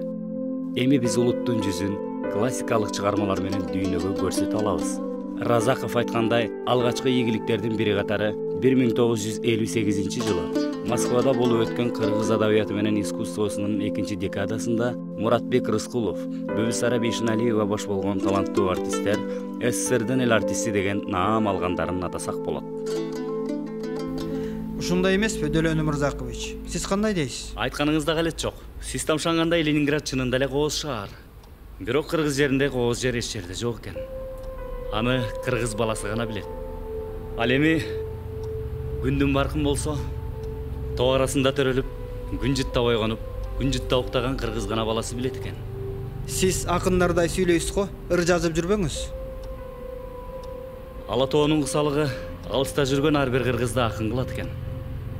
Speaker 2: Эми биз улуттун жүзүн классикалык чыгармалар менен дүйнөгө көрсөтө алабыз. Разаков айткандай, алгачкы ийгиликтердин бири катары бир миң тогуз жүз элүү сегизинчи жылы Москвада болуп өткөн кыргыз адабияты менен искусствосунун экинчи декадасында Муратбек Рыскулов, Бүбүсара Бейшеналиева баш болгон таланттуу артисттер СССРдин эл артисти деген наам алгандарын атасак болот.
Speaker 7: Ушундай эмеспи, Дөлөн Өмүрзакович? Сиз кандай дейсиз?
Speaker 2: Айтканыңызда галет жок. Сиз тамшангандай Ленинград чынында эле кооз шаар. Бирок кыргыз жеринде кооз жер эч жерде жок экен. Аны кыргыз баласы гана билет. Ал эми күндүн баркын болсо, тоо арасында төрөлүп, күн жытта ойгонуп, күн жытта уктаган кыргыз гана баласы билет экен.
Speaker 7: Сиз акындардай сүйлөйсүз го, ыр жазып жүрбөңүз.
Speaker 2: Ала тоонун кысалыгы алыста жүргөн ар бир кыргызды акын кылат экен.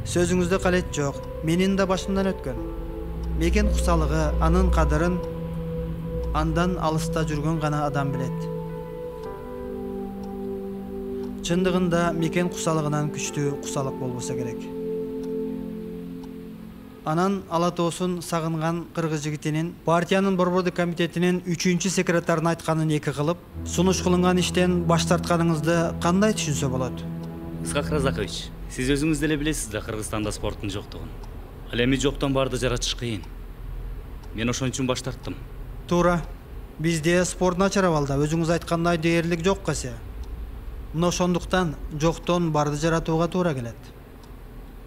Speaker 7: Сөзүңүздө калет жок, менин да башымдан өткөн. Мекен кусалыгы, анын кадырын андан алыста жүргөн гана адам билет. Чындыгында мекен кусалыгынан күчтүү кусалык болбосо керек. Анан ала тоосун сагынган кыргыз жигитинин партиянын борбордук комитетинин үчүнчү секретарын айтканын эки кылып, сунуш кылынган иштен баш тартканыңызды кандай түшүнсө болот?
Speaker 2: Исхак Разакович, сиз өзүңүз деле билесиз да Кыргызстанда спорттун жоктугун. Ал эми жоктон барды жаратыш кыйын. Мен ошон үчүн баш тарттым.
Speaker 7: Туура. Бизде спорт начар абалда, өзүңүз айткандай дээрлик жок кесе. Мына ошондуктан жоктон барды жаратууга туура келет.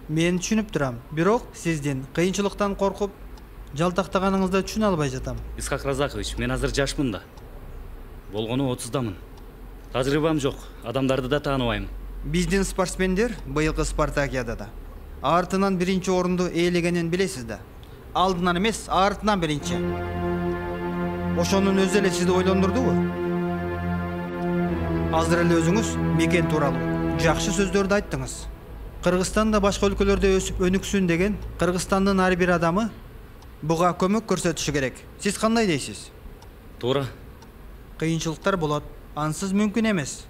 Speaker 7: Мен түшүнүп турам, бирок сиздин кыйынчылыктан коркуп, жалтактаганыңызды түшүнө албай жатам.
Speaker 2: Исхак Разакович, мен азыр жашмын да. Болгону отуздамын. Тажрыйбам жок, адамдарды да тааныбайм.
Speaker 7: Биздин спортсмендер быйылкы Спартакиадада артынан биринчи орунду ээлегенин билесиз да. Алдынан эмес, артынан биринчи. Ошонун өзү эле сизди ойлондурдубу? Азыр эле өзүңүз мекен тууралуу жакшы сөздөрдү айттыңыз. Кыргызстанда башка өлкөлөрдө өсүп өнүксүн деген Кыргызстандын ар бир адамы буга көмөк көрсөтүшү керек. Сиз кандай дейсиз?
Speaker 2: Туура.
Speaker 7: Кыйынчылыктар болот, ансыз мүмкүн эмес.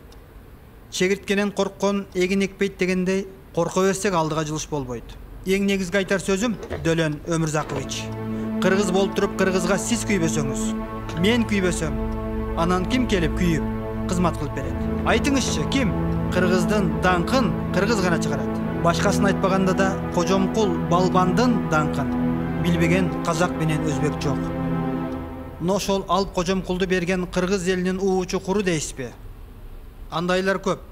Speaker 7: Чегирткенен корккон эгин экпейт дегендей, корко берсек алдыга жылыш болбойт. Эң негизги айтар сөзүм, Дөлөн Өмүрзакович. Кыргыз болуп туруп кыргызга сиз күйбөсөңүз, мен күйбөсөм, анан ким келип күйүп кызмат кылып берет? Айтыңызчы, ким? Кыргыздын даңкын кыргыз гана чыгарат. Башкасын айтпаганда да Кожомкул Балбандын даңкын билбеген казак менен өзбек жок. Но ошол алып Кожомкулду берген кыргыз элинин уучу куру дейсизби? Андайлар көп.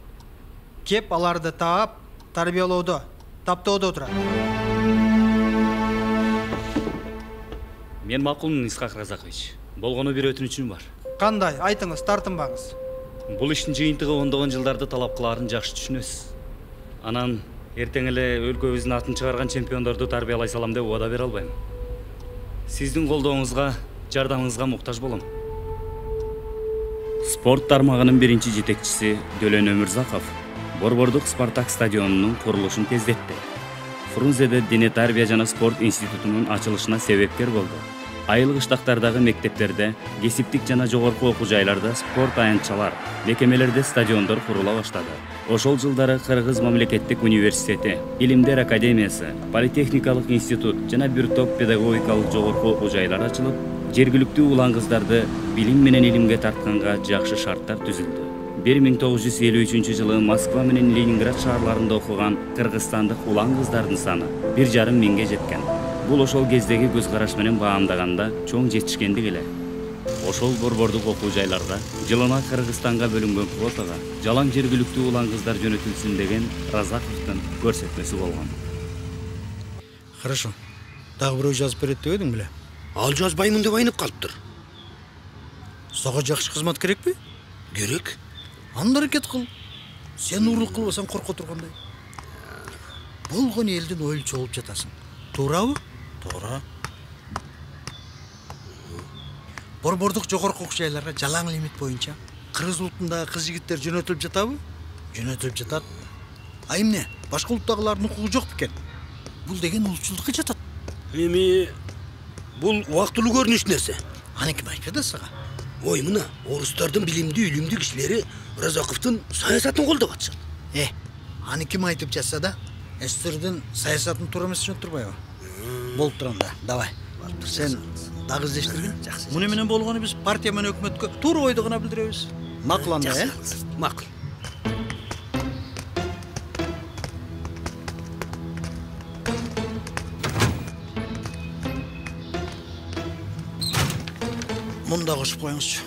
Speaker 7: Кеп аларды таап, тарбиялоодо, таптоодо турат.
Speaker 2: Мен макулмун, Исхак Разакович. Болгону бир өтүнүчүм бар.
Speaker 7: Кандай? Айтыңыз, тартынбаңыз.
Speaker 2: Бул иштин жыйынтыгы ондогон жылдарды талап кылаарын жакшы түшүнөсүз. Анан эртең эле өлкөбүздүн атын чыгарган чемпиондорду тарбиялай салам деп убада бере албайм. Сиздин колдооңузга, жардамыңызга муктаж болом. Спорт тармагынын биринчи жетекчиси Дөлөн Өмүрзаков борбордук Спартак стадионунун курулушун тездетти. Фрунзеде дене тарбия жана спорт институтунун ачылышына себепкер болду. Айыл кыштактардагы мектептерде, кесиптик жана жогорку окуу жайларда спорт аянтчалар, мекемелерде стадиондор курула баштады. Ошол жылдары Кыргыз мамлекеттик университети, Илимдер академиясы, политехникалык институт жана бир топ педагогикалык жогорку окуу жайлар ачылып, жергиликтүү улан кыздарды билим менен илимге тартканга жакшы шарттар түзүлдү. бир миң тогуз жүз элүү үчүнчү жылы Москва менен Ленинград шаарларында окуган кыргызстандык улан кыздардын саны бир жарым миңге жеткен. Бул ошол кездеги көз караш менен баамдаганда чоң жетишкендик эле. Ошол борбордук окуу жайларда жылына Кыргызстанга бөлүнгөн квотага жалаң жергиликтүү улан кыздар жөнөтүлсүн деген Разаковдун көрсөтмөсү болгон.
Speaker 18: Хорошо. Дагы бирөө жазып берет деп эдиң беле?
Speaker 1: Ал жазбаймын деп айнып калыптыр.
Speaker 18: Сага жакшы кызмат керекпи?
Speaker 1: Керек.
Speaker 18: Анда аракет кыл. Сен уурулук кылбасаң корко тургандай. Болгон элдин ойлчу болуп жатасың. Туурабы?
Speaker 1: Туура.
Speaker 18: Борбордук жогорку окуу жайларга жалаң лимит боюнча кыргыз улутундагы кыз жигиттер жөнөтүлүп жатабы? Жөнөтүлүп жатат. А эмне? Башка улуттагылардын укугу жок бекен? Бул деген улутчулдукка жатат.
Speaker 1: Эми бул убактылуу көрүнүш нерсе.
Speaker 18: Аны ким айтты да сага?
Speaker 1: Ой, мына орустардын билимдүү үлүмдүү кишилери Разаковдун саясатын колдоп атышат.
Speaker 18: Э, аны ким айтып жатса да, СССРдин саясатын туура эмес деп турбайбы? Болуп турганда, давай. Сен дагы издештиргин. Муну менен болгону биз партия менен өкмөткө туура ойду гана билдиребиз. Макул анда, э?
Speaker 1: Макул.
Speaker 18: Мында кошуп коюңузчу.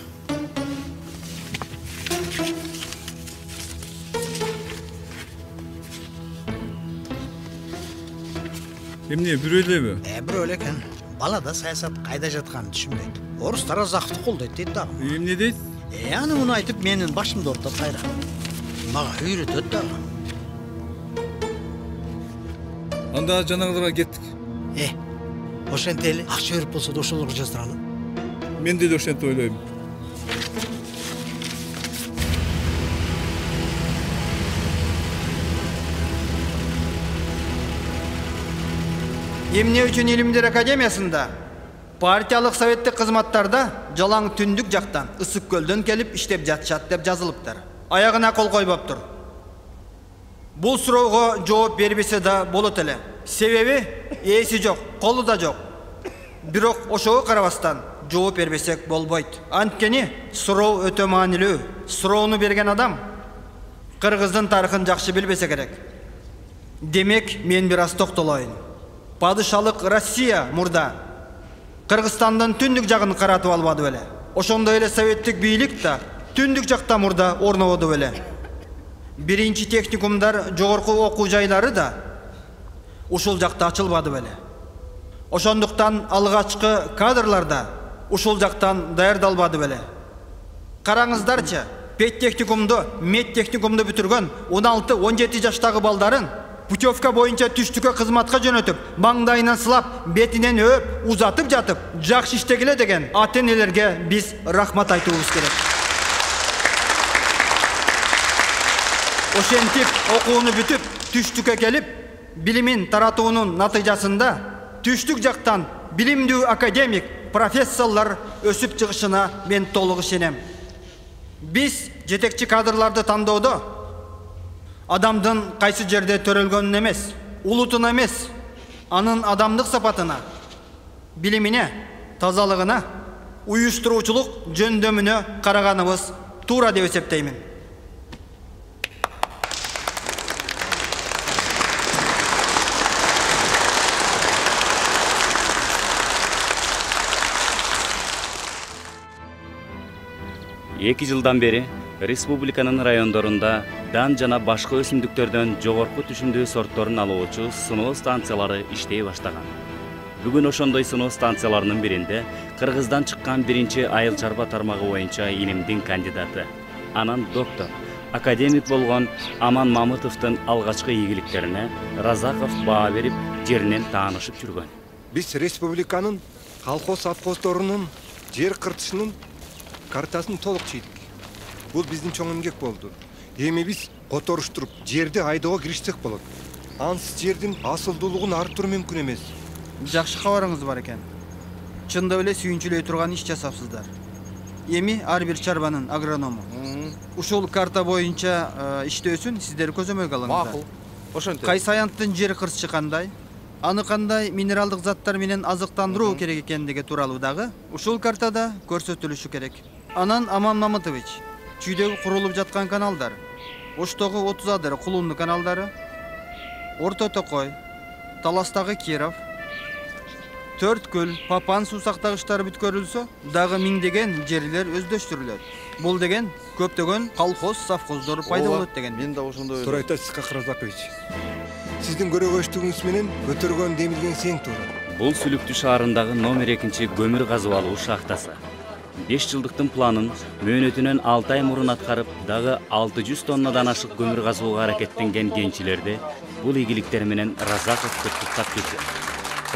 Speaker 12: Эмне, бирөө элеби?
Speaker 18: Э, бирөө эле экен. Бала да саясат кайда жатканын түшүнбөйт. Орустар Разаковду колдойт дейт дагы.
Speaker 12: Эмне дейт?
Speaker 18: Э, аны муну айтып менин башымды ооруттап кайра. Мага үйрөтөт дагы.
Speaker 12: Анда жанагыларга кеттик.
Speaker 18: Э, ошентели акча берип болсо да ошолорго жаздыралы.
Speaker 12: Мен деле ошентип ойлойм.
Speaker 7: Эмне үчүн Илимдер академиясында партиялык советтик кызматтарда жалаң түндүк жактан ысык көлдөн келип иштеп жатышат деп жазылыптыр. Аягына кол койбоптур. Бул суроого жооп бербесе да болот эле. Себеби ээси жок, колу да жок. Бирок ошого карабастан жооп бербесек болбойт. Анткени суроо өтө маанилүү. Суроону берген адам Кыргыздын тарыхын жакшы билбесе керек. Демек, мен бир аз токтолоюн. Падышалык Россия мурда Кыргызстандын түндүк жагын каратып албады беле. Ошондой эле советтик бийлик да түндүк жакта мурда орнободу беле. Биринчи техникумдар, жогорку окуу жайлары да ушул жакта ачылбады беле. Ошондуктан алгачкы кадрлар да ушул жактан даярдалбады беле. Караңыздарчы, педтехникумду, медтехникумду бүтүргөн он алты он жети жаштагы балдарын путевка боюнча түштүккө кызматка жөнөтүп, маңдайынан сылап, бетинен өөп, узатып жатып, жакшы иштегиле деген ата-энелерге биз рахмат айтуубуз керек. Ошентип окууну бүтүп, түштүккө келип, билимин таратуунун натыйжасында түштүк жактан билимдүү академик, профессорлор өсүп чыгышына мен толук ишенем. Биз жетекчи кадрларды тандоодо адамдын кайсы жерде төрөлгөнүн эмес, улутуна эмес, анын адамдык сапатына, билимине, тазалыгына, уюштуруучулук жөндөмүнө караганыбыз туура деп эсептеймин.
Speaker 2: эки жылдан бери республиканын райондорунда дан жана башка өсүмдүктөрдөн жогорку түшүмдүү сортторун алуучу сыноо станциялары иштей баштаган. Бүгүн ошондой сыноо станцияларынын биринде Кыргыздан чыккан биринчи айыл чарба тармагы боюнча илимдин кандидаты, анан доктор, академик болгон Аман Мамытовдун алгачкы ийгиликтерине Разаков баа берип, жеринен таанышып жүргөн.
Speaker 11: Биз республиканын колхоз совхоздорунун жер кыртышынын картасын толук чийдик. Бул биздин чоң эмгек болду. Эми биз которуштуруп, жерди айдоого киришсек болот. Ансыз жердин асылдуулугун арттыруу мүмкүн эмес.
Speaker 7: Жакшы кабарыңыз бар экен. Чындап эле сүйүнчүлөй турган иш жасапсыздар. Эми ар бир чарбанын агроному. Ушул карта боюнча иштөөсүн сиздер көзөмөлгө алыңыздар.
Speaker 22: Макул. Ошентип.
Speaker 7: Кайсы аянттын жер кырчы кандай, аны кандай минералдык заттар менен азыктандыруу керек экендиги тууралуу дагы ушул картада көрсөтүлүшү керек. Анан Аман Мамытович, чүйдөгү курулуп жаткан каналдар, Оштогу отуз адыр кулунду каналдары, Орто Токой, Таластагы Киров, Төрткүл, Папан суу сактагычтары бүткөрүлсө, дагы миңдеген жерлер өздөштүрүлөт. Бул деген көптөгөн колхоз, совхоздор пайда болот деген.
Speaker 22: Мен да ошондой.
Speaker 11: Туура айтасыз, Разакович. Сиздин көрөгөчтүгүңүз менен көтөргөн демилген сең туура.
Speaker 2: Бул Сүлүктүү шаарындагы номер экинчи көмүр казып алуу шахтасы. беш жылдыктын планын мөөнөтүнөн алты ай мурун аткарып, дагы алты жүз тоннадан ашык көмүр казууга аракеттенген кенчилерди бул ийгиликтер менен Разаковду туттап кетти.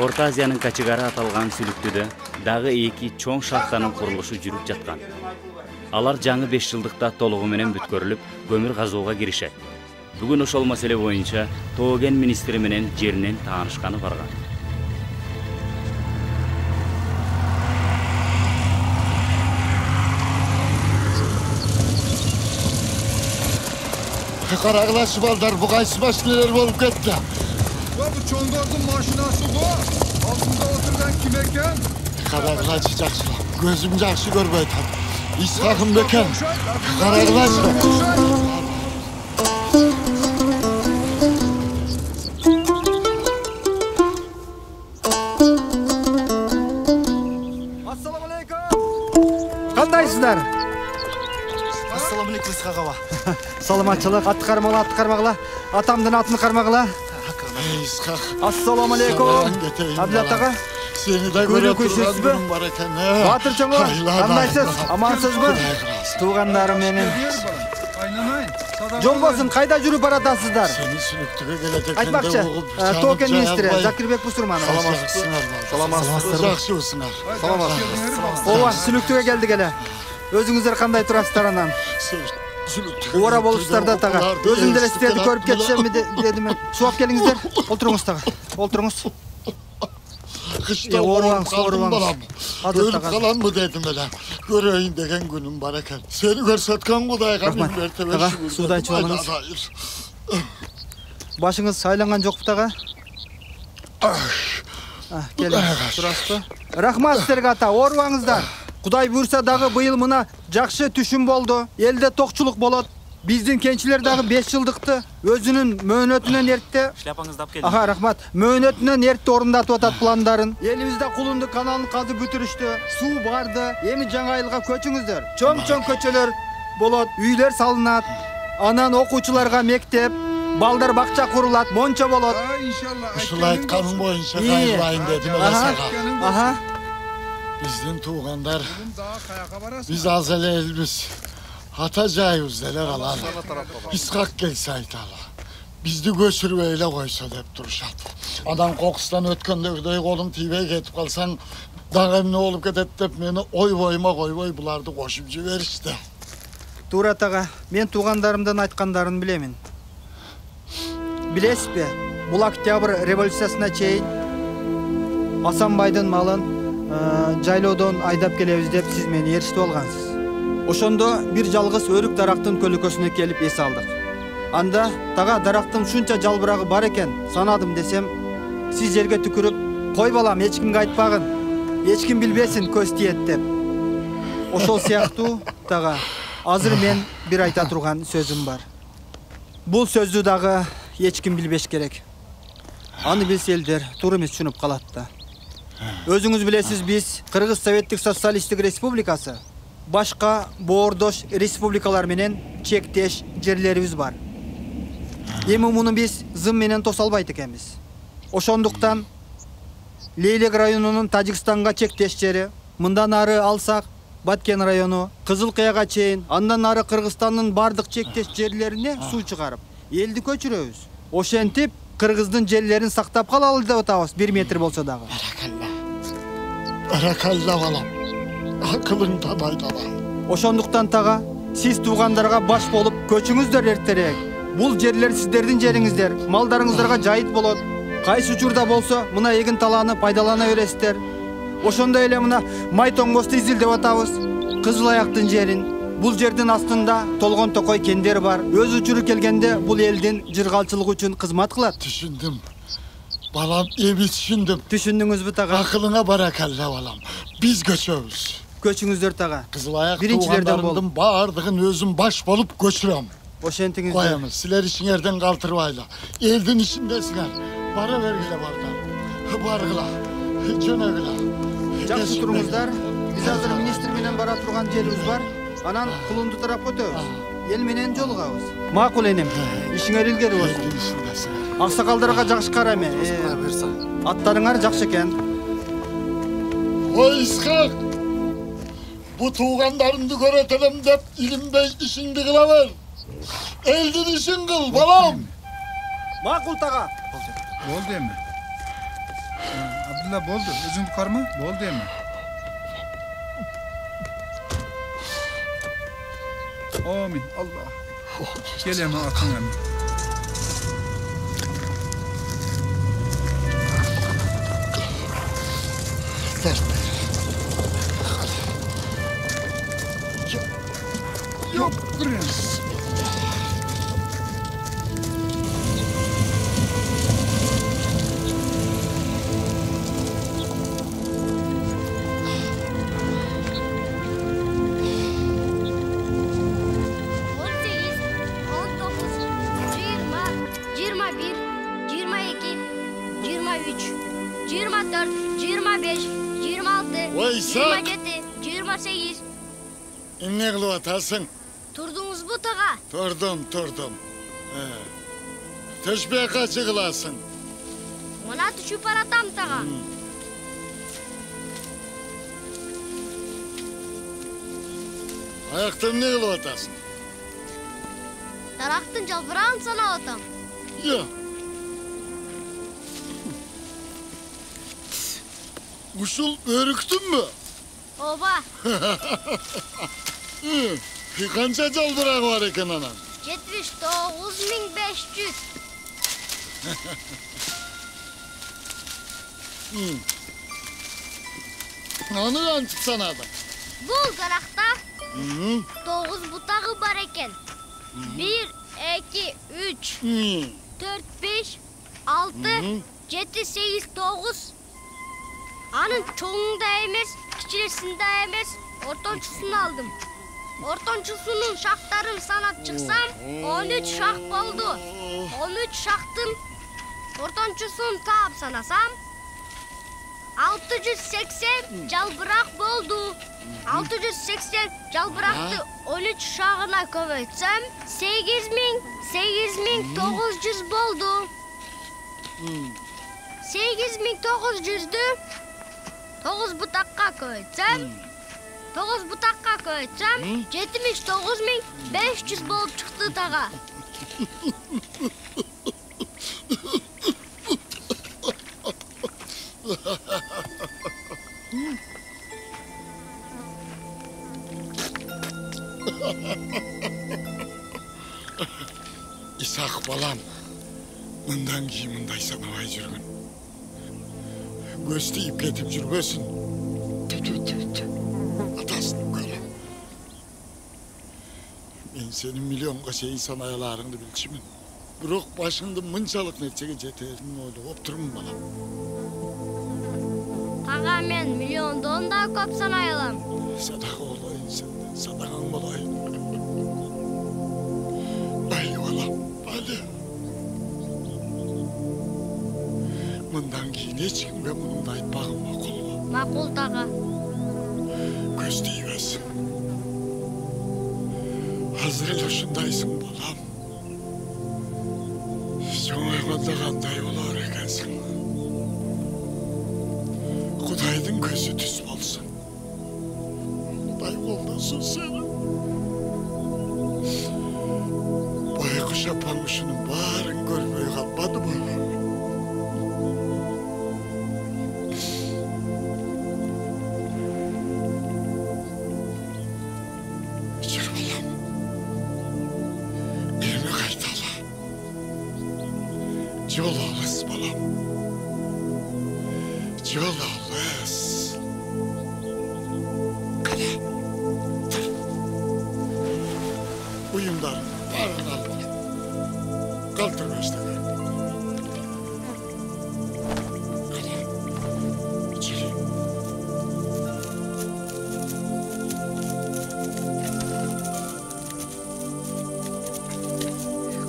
Speaker 2: Орто Азиянын качыгары аталган Сүлүктүүдө дагы эки чоң шахтанын курулушу жүрүп жаткан. Алар жаңы беш жылдыкта толугу менен бүткөрүлүп, көмүр казууга киришет. Бүгүн ошол маселе боюнча Тоо кен министри менен жеринен таанышканы барган.
Speaker 5: Карагылашы балдар, бу кайсы машиналар болуп кетти?
Speaker 15: Бу чоңдордун машинасы го. Алдында отурган ким экен?
Speaker 5: Карагылашы жакшы. Көзүм жакшы көрбөй атат. Исхакым бекен. Карагылашы.
Speaker 7: Кандайсыздар?
Speaker 21: Ассаламу алейкум Исхак аба.
Speaker 7: Саламатчылык, атты кармагыла, атты кармагыла, атамдын атын кармагыла.
Speaker 5: Исхак.
Speaker 7: Ассаламу алейкум. Абдулат ага.
Speaker 5: Сени да көрө турган бар экен.
Speaker 7: Батыр чоңо, кандайсыз? Амансызбы? Туугандарым менин.
Speaker 15: Айнанайын.
Speaker 7: Жолбосун кайда жүрүп баратасыздар?
Speaker 5: Сени сүнүктүгө келет
Speaker 7: Айтмакчы, Токен министри Закирбек Бусурманов.
Speaker 5: Саламатсыздар. Жакшысыңар.
Speaker 7: Саламатсыздар. Ооба, сүнүктүгө келдик эле. Өзүңүздөр кандай турасыздар анан? Ора болуптур да тага. Өзүм деле сиздерди көрүп кетсемби дедим мен. Сууап келиңиздер. Олтуруңуз тага. Олтуруңуз.
Speaker 5: Кышта оорубаңыз, оорубаңыз. Өлүп каламбы дедим эле. Көрөйүн деген күнүм бар экен. Сени көрсөткөн Кудайга миң мертебе шүгүр.
Speaker 7: Суудай ичип алыңыз. Башыңыз айланган жокпу тага? Келиңиз, турасызбы? Рахмат силерге ата, оорубаңыздар. Кудай буйрса дагы быйыл мына жакшы түшүм болду. Элде токчулук болот. Биздин кенчилер дагы беш жылдыкты өзүнүн мөөнөтүнөн эртте.
Speaker 13: Шляпаңызды алып келдим.
Speaker 7: Аха, рахмат. Мөөнөтүнөн эртте орундатып атат пландарын. Элибизде Кулунду каналын казып бүтүрүштү. Суу барды. Эми жаңы айылга көчүңүздөр. Чоң-чоң көчөлөр болот, үйлөр салынат. Анан окуучуларга мектеп, балдар бакча курулат, мончо болот.
Speaker 15: Иншалла.
Speaker 5: Ушул айтканың боюнча кайрылайын дедим эле сага.
Speaker 7: Аха.
Speaker 5: Биздин туугандар, биз аз эле элбиз. Ата жайыбызда эле калалы. Исхак келсе айталы. Бизди көчүрбөй эле койсо деп турушат. Анан кокустан өткөндөгүдөй колуң тийбей кетип калсаң, дагы эмне болуп кетет деп мени ойбойма койбой буларды кошуп жиберишти.
Speaker 7: Туура тага, мен туугандарымдын айткандарын билемин. Билесизби, бул октябрь революциясына чейин Асанбайдын малын жайлоодон айдап келебиз деп сиз мени ээрчитип алгансыз. Ошондо бир жалгыз өрүк дарактын көлөкөсүнө келип эс алдык. Анда тага дарактын ушунча жалбырагы бар экен санадым десем, сиз жерге түкүрүп, кой балам эч кимге айтпагын, эч ким билбесин көз тиет деп. Ошол сыяктуу тага азыр мен бир айта турган сөзүм бар. Бул сөздү дагы эч ким билбеш керек. Аны билсе элдер туура эмес түшүнүп калат да. Өзүңүз билесиз, биз Кыргыз Советтик Социалисттик Республикасы башка боордош республикалар менен чектеш жерлерибиз бар. Эми муну биз зым менен тоса албайт экенбиз. Ошондуктан Лейлек районунун Тажикстанга чектеш жери, мындан ары алсак Баткен району, Кызыл Кыяга чейин, андан ары Кыргызстандын бардык чектеш жерлерине суу чыгарып, элди көчүрөбүз. Ошентип Кыргыздын жерлерин сактап калалы деп атабыз, бир метр болсо дагы.
Speaker 5: Баракалла балам. Акылыңдан айдала.
Speaker 7: Ошондуктан тага сиз туугандарга баш болуп көчүңүздөр эртерээк. Бул жерлер сиздердин жериңиздер, малдарыңыздарга жайыт болот. Кайсы учурда болсо мына эгин талааны пайдалана бересиздер. Ошондой эле мына Майтоңбосту изилдеп атабыз. Кызыл аяктын жерин. Бул жердин астында Толгон Токой кендери бар. Өз учуру келгенде бул элдин жыргалчылыгы үчүн кызмат кылат.
Speaker 5: Түшүндүм. Балам, эми түшүндүм.
Speaker 7: Түшүндүңүзбү тага?
Speaker 5: Акылыңа баракалла балам. Биз көчөбүз.
Speaker 7: Көчүңүздөр тага.
Speaker 5: Кызыл аяк туугандарымдын баардыгын өзүм баш болуп көчүрөм.
Speaker 7: Ошентиңиздер.
Speaker 5: Коямыз, силер ишиңерден калтырбайлы. Элдин ишиндесиңер. Бара бергиле бардар. Баргыла. Жөнөгүлө.
Speaker 7: Жакшы туруңуздар. Биз азыр министр менен бара турган жерибиз бар. Анан Кулунду тарапка өтөбүз. Эл менен жолугабыз. Макул энем. Ишиңер илгери болсун. Аксакалдарга жакшы кара эме. Аттарыңар жакшы экен.
Speaker 5: Ой Исхак. Бу туугандарымды көрөтөлөм деп илинбей ишиңди кыла бер. Элдин ишин кыл, балам.
Speaker 7: Макул тага.
Speaker 15: Болду эми. Абдулла болду. Өзүңдү карма? Болду эми. Амин. Алла. Келем атыңа.
Speaker 5: Yok,
Speaker 3: жыйырма төрт, жыйырма беш, жыйырма алты,
Speaker 5: Ой,
Speaker 3: жыйырма
Speaker 5: Исаак!
Speaker 3: жети, жыйырма сегиз.
Speaker 5: Эмне кылып атасың?
Speaker 3: Турдуңузбу тага?
Speaker 5: Турдум, турдум. Төшпөй качы кыласың?
Speaker 3: Мына түшүп баратам тага.
Speaker 5: Аякта эмне кылып атасың?
Speaker 3: Дарактын жалбырагын санап атам.
Speaker 5: Yo. Ушул өрүктүнбү?
Speaker 3: Ооба.
Speaker 5: Канча жалбырагы бар экен анан?
Speaker 3: жетимиш тогуз миң беш жүз.
Speaker 5: Аны кантип санадың?
Speaker 3: Бул даракта тогуз бутагы бар экен. бир, эки, үч, төрт, беш, алты, жети, сегиз, тогуз. Анын чоңун да эмес, кичинесин да эмес, ортончусун алдым. Ортончусунун шактарын санап чыксам, он үч шак болду. он үч шактын ортончусун таап санасам, алты жүз сексен жалбырак болду. алты жүз сексен жалбыракты он үч шагына көбөйтсөм, сегиз миң, сегиз миң тогуз жүз болду. сегиз миң тогуз жүздү тогуз бутакка көбөйтсөм, тогуз бутакка көбөйтсөм, жетимиш тогуз миң беш жүз болуп чыкты тага.
Speaker 5: Исаак балам, мындан кийин мындай санабай жүргүн. Көз тийип кетип жүрбөсүн. Атасын көлө. Мен сенин миллионго чейин санай аларыңды билчүмүн. Бирок башыңды мынчалык нерсеге жетерин ойлоп турмун балам.
Speaker 3: Тага мен миллиондон да көп санай алам.
Speaker 5: Садага болоюн сенден, садагаң болоюн. Ай балам, али. Мындан кийин эч кимге мунуңду айтпагым макулбу?
Speaker 3: Макул тага.
Speaker 5: Көз тийбесин. Азыр эле ушундайсың балам. Чоңойгондо кандай болор экенсиң? Кудайдын көзү түз болсун. Кудай колдосун сени. Байкуш апаң ушунун баарын көрбөй калбадыбы? Жүр балам. Эми кайталы. Жол алыс балам. Жол алыс. Кана. Тур. Уюмдарын баарын алып ал. Калтыр көздөгө. Кана. Жүр.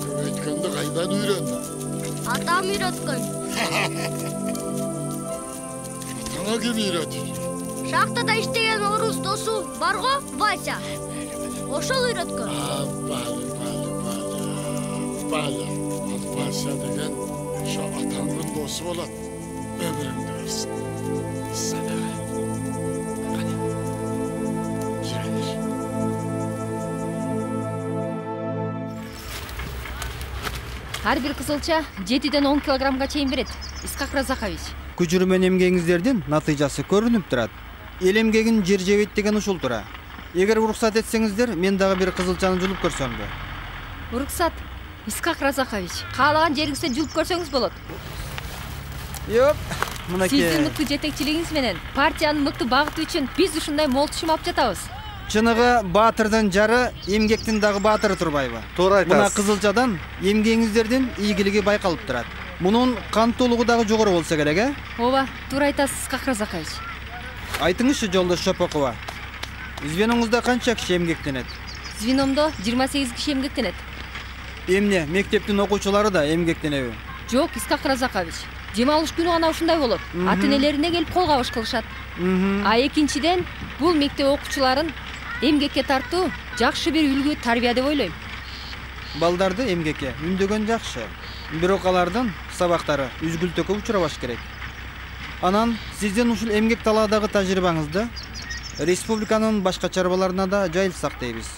Speaker 5: Көбөйткөндү кайдан үйрөндүң?
Speaker 3: Атам үйрөткөн.
Speaker 5: Атаңа ким үйрөтүп?
Speaker 3: Шахтада иштеген орус досу бар го, Вася. Ошол үйрөткөн.
Speaker 5: Бали, бали, бали. Бали. Ал Вася деген ошо атаңдын досу болот. Өмүрүңдү берсин. Садага. Кане. Жүре бер.
Speaker 6: Ар бир кызылча жетиден он килограммга чейин берет. Исхак Разакович.
Speaker 7: Күчүрмөн эмгегиңиздердин натыйжасы көрүнүп турат. Эл эмгегин жер жебейт деген ушул тура. Эгер уруксат этсеңиздер, мен дагы бир кызылчаны жулуп көрсөмбү?
Speaker 6: Уруксат. Исхак Разакович, каалаган жериңизде жулуп көрсөңүз болот.
Speaker 7: Йоп, мынакей.
Speaker 6: Сиздин мыкты жетекчилигиңиз менен партиянын мыкты багыты үчүн биз ушундай мол түшүм алып жатабыз.
Speaker 7: Чыныгы баатырдын жары, эмгектин дагы баатыры турбайбы?
Speaker 22: Туура айтасыз.
Speaker 7: Мына кызылчадан эмгегиңиздердин ийгилиги байкалып турат. Мунун кан толугу дагы жогору болсо керек, э?
Speaker 6: Ооба, туура айтасыз, Исхак Разакович.
Speaker 7: Айтыңызчы, жолдош Шопокова. Звеноңузда канча киши эмгектенет?
Speaker 6: Звеномдо жыйырма сегиз киши эмгектенет.
Speaker 7: Эмне, мектептин окуучулары да эмгектенеби?
Speaker 6: Жок, Исхак Разакович. Жем алыш күнү гана ушундай болот. Ата энелерине келип кол кабыш кылышат. А экинчиден бул мектеп окуучуларын эмгекке тартуу жакшы бир үлгү тарбия деп ойлойм.
Speaker 7: Балдарды эмгекке үндөгөн жакшы, бирок алардын сабактары үзгүлтөккө учурабаш керек. Анан сиздин ушул эмгек талаадагы тажрыйбаңызды республиканын башка чарбаларына да жайылсак дейбиз.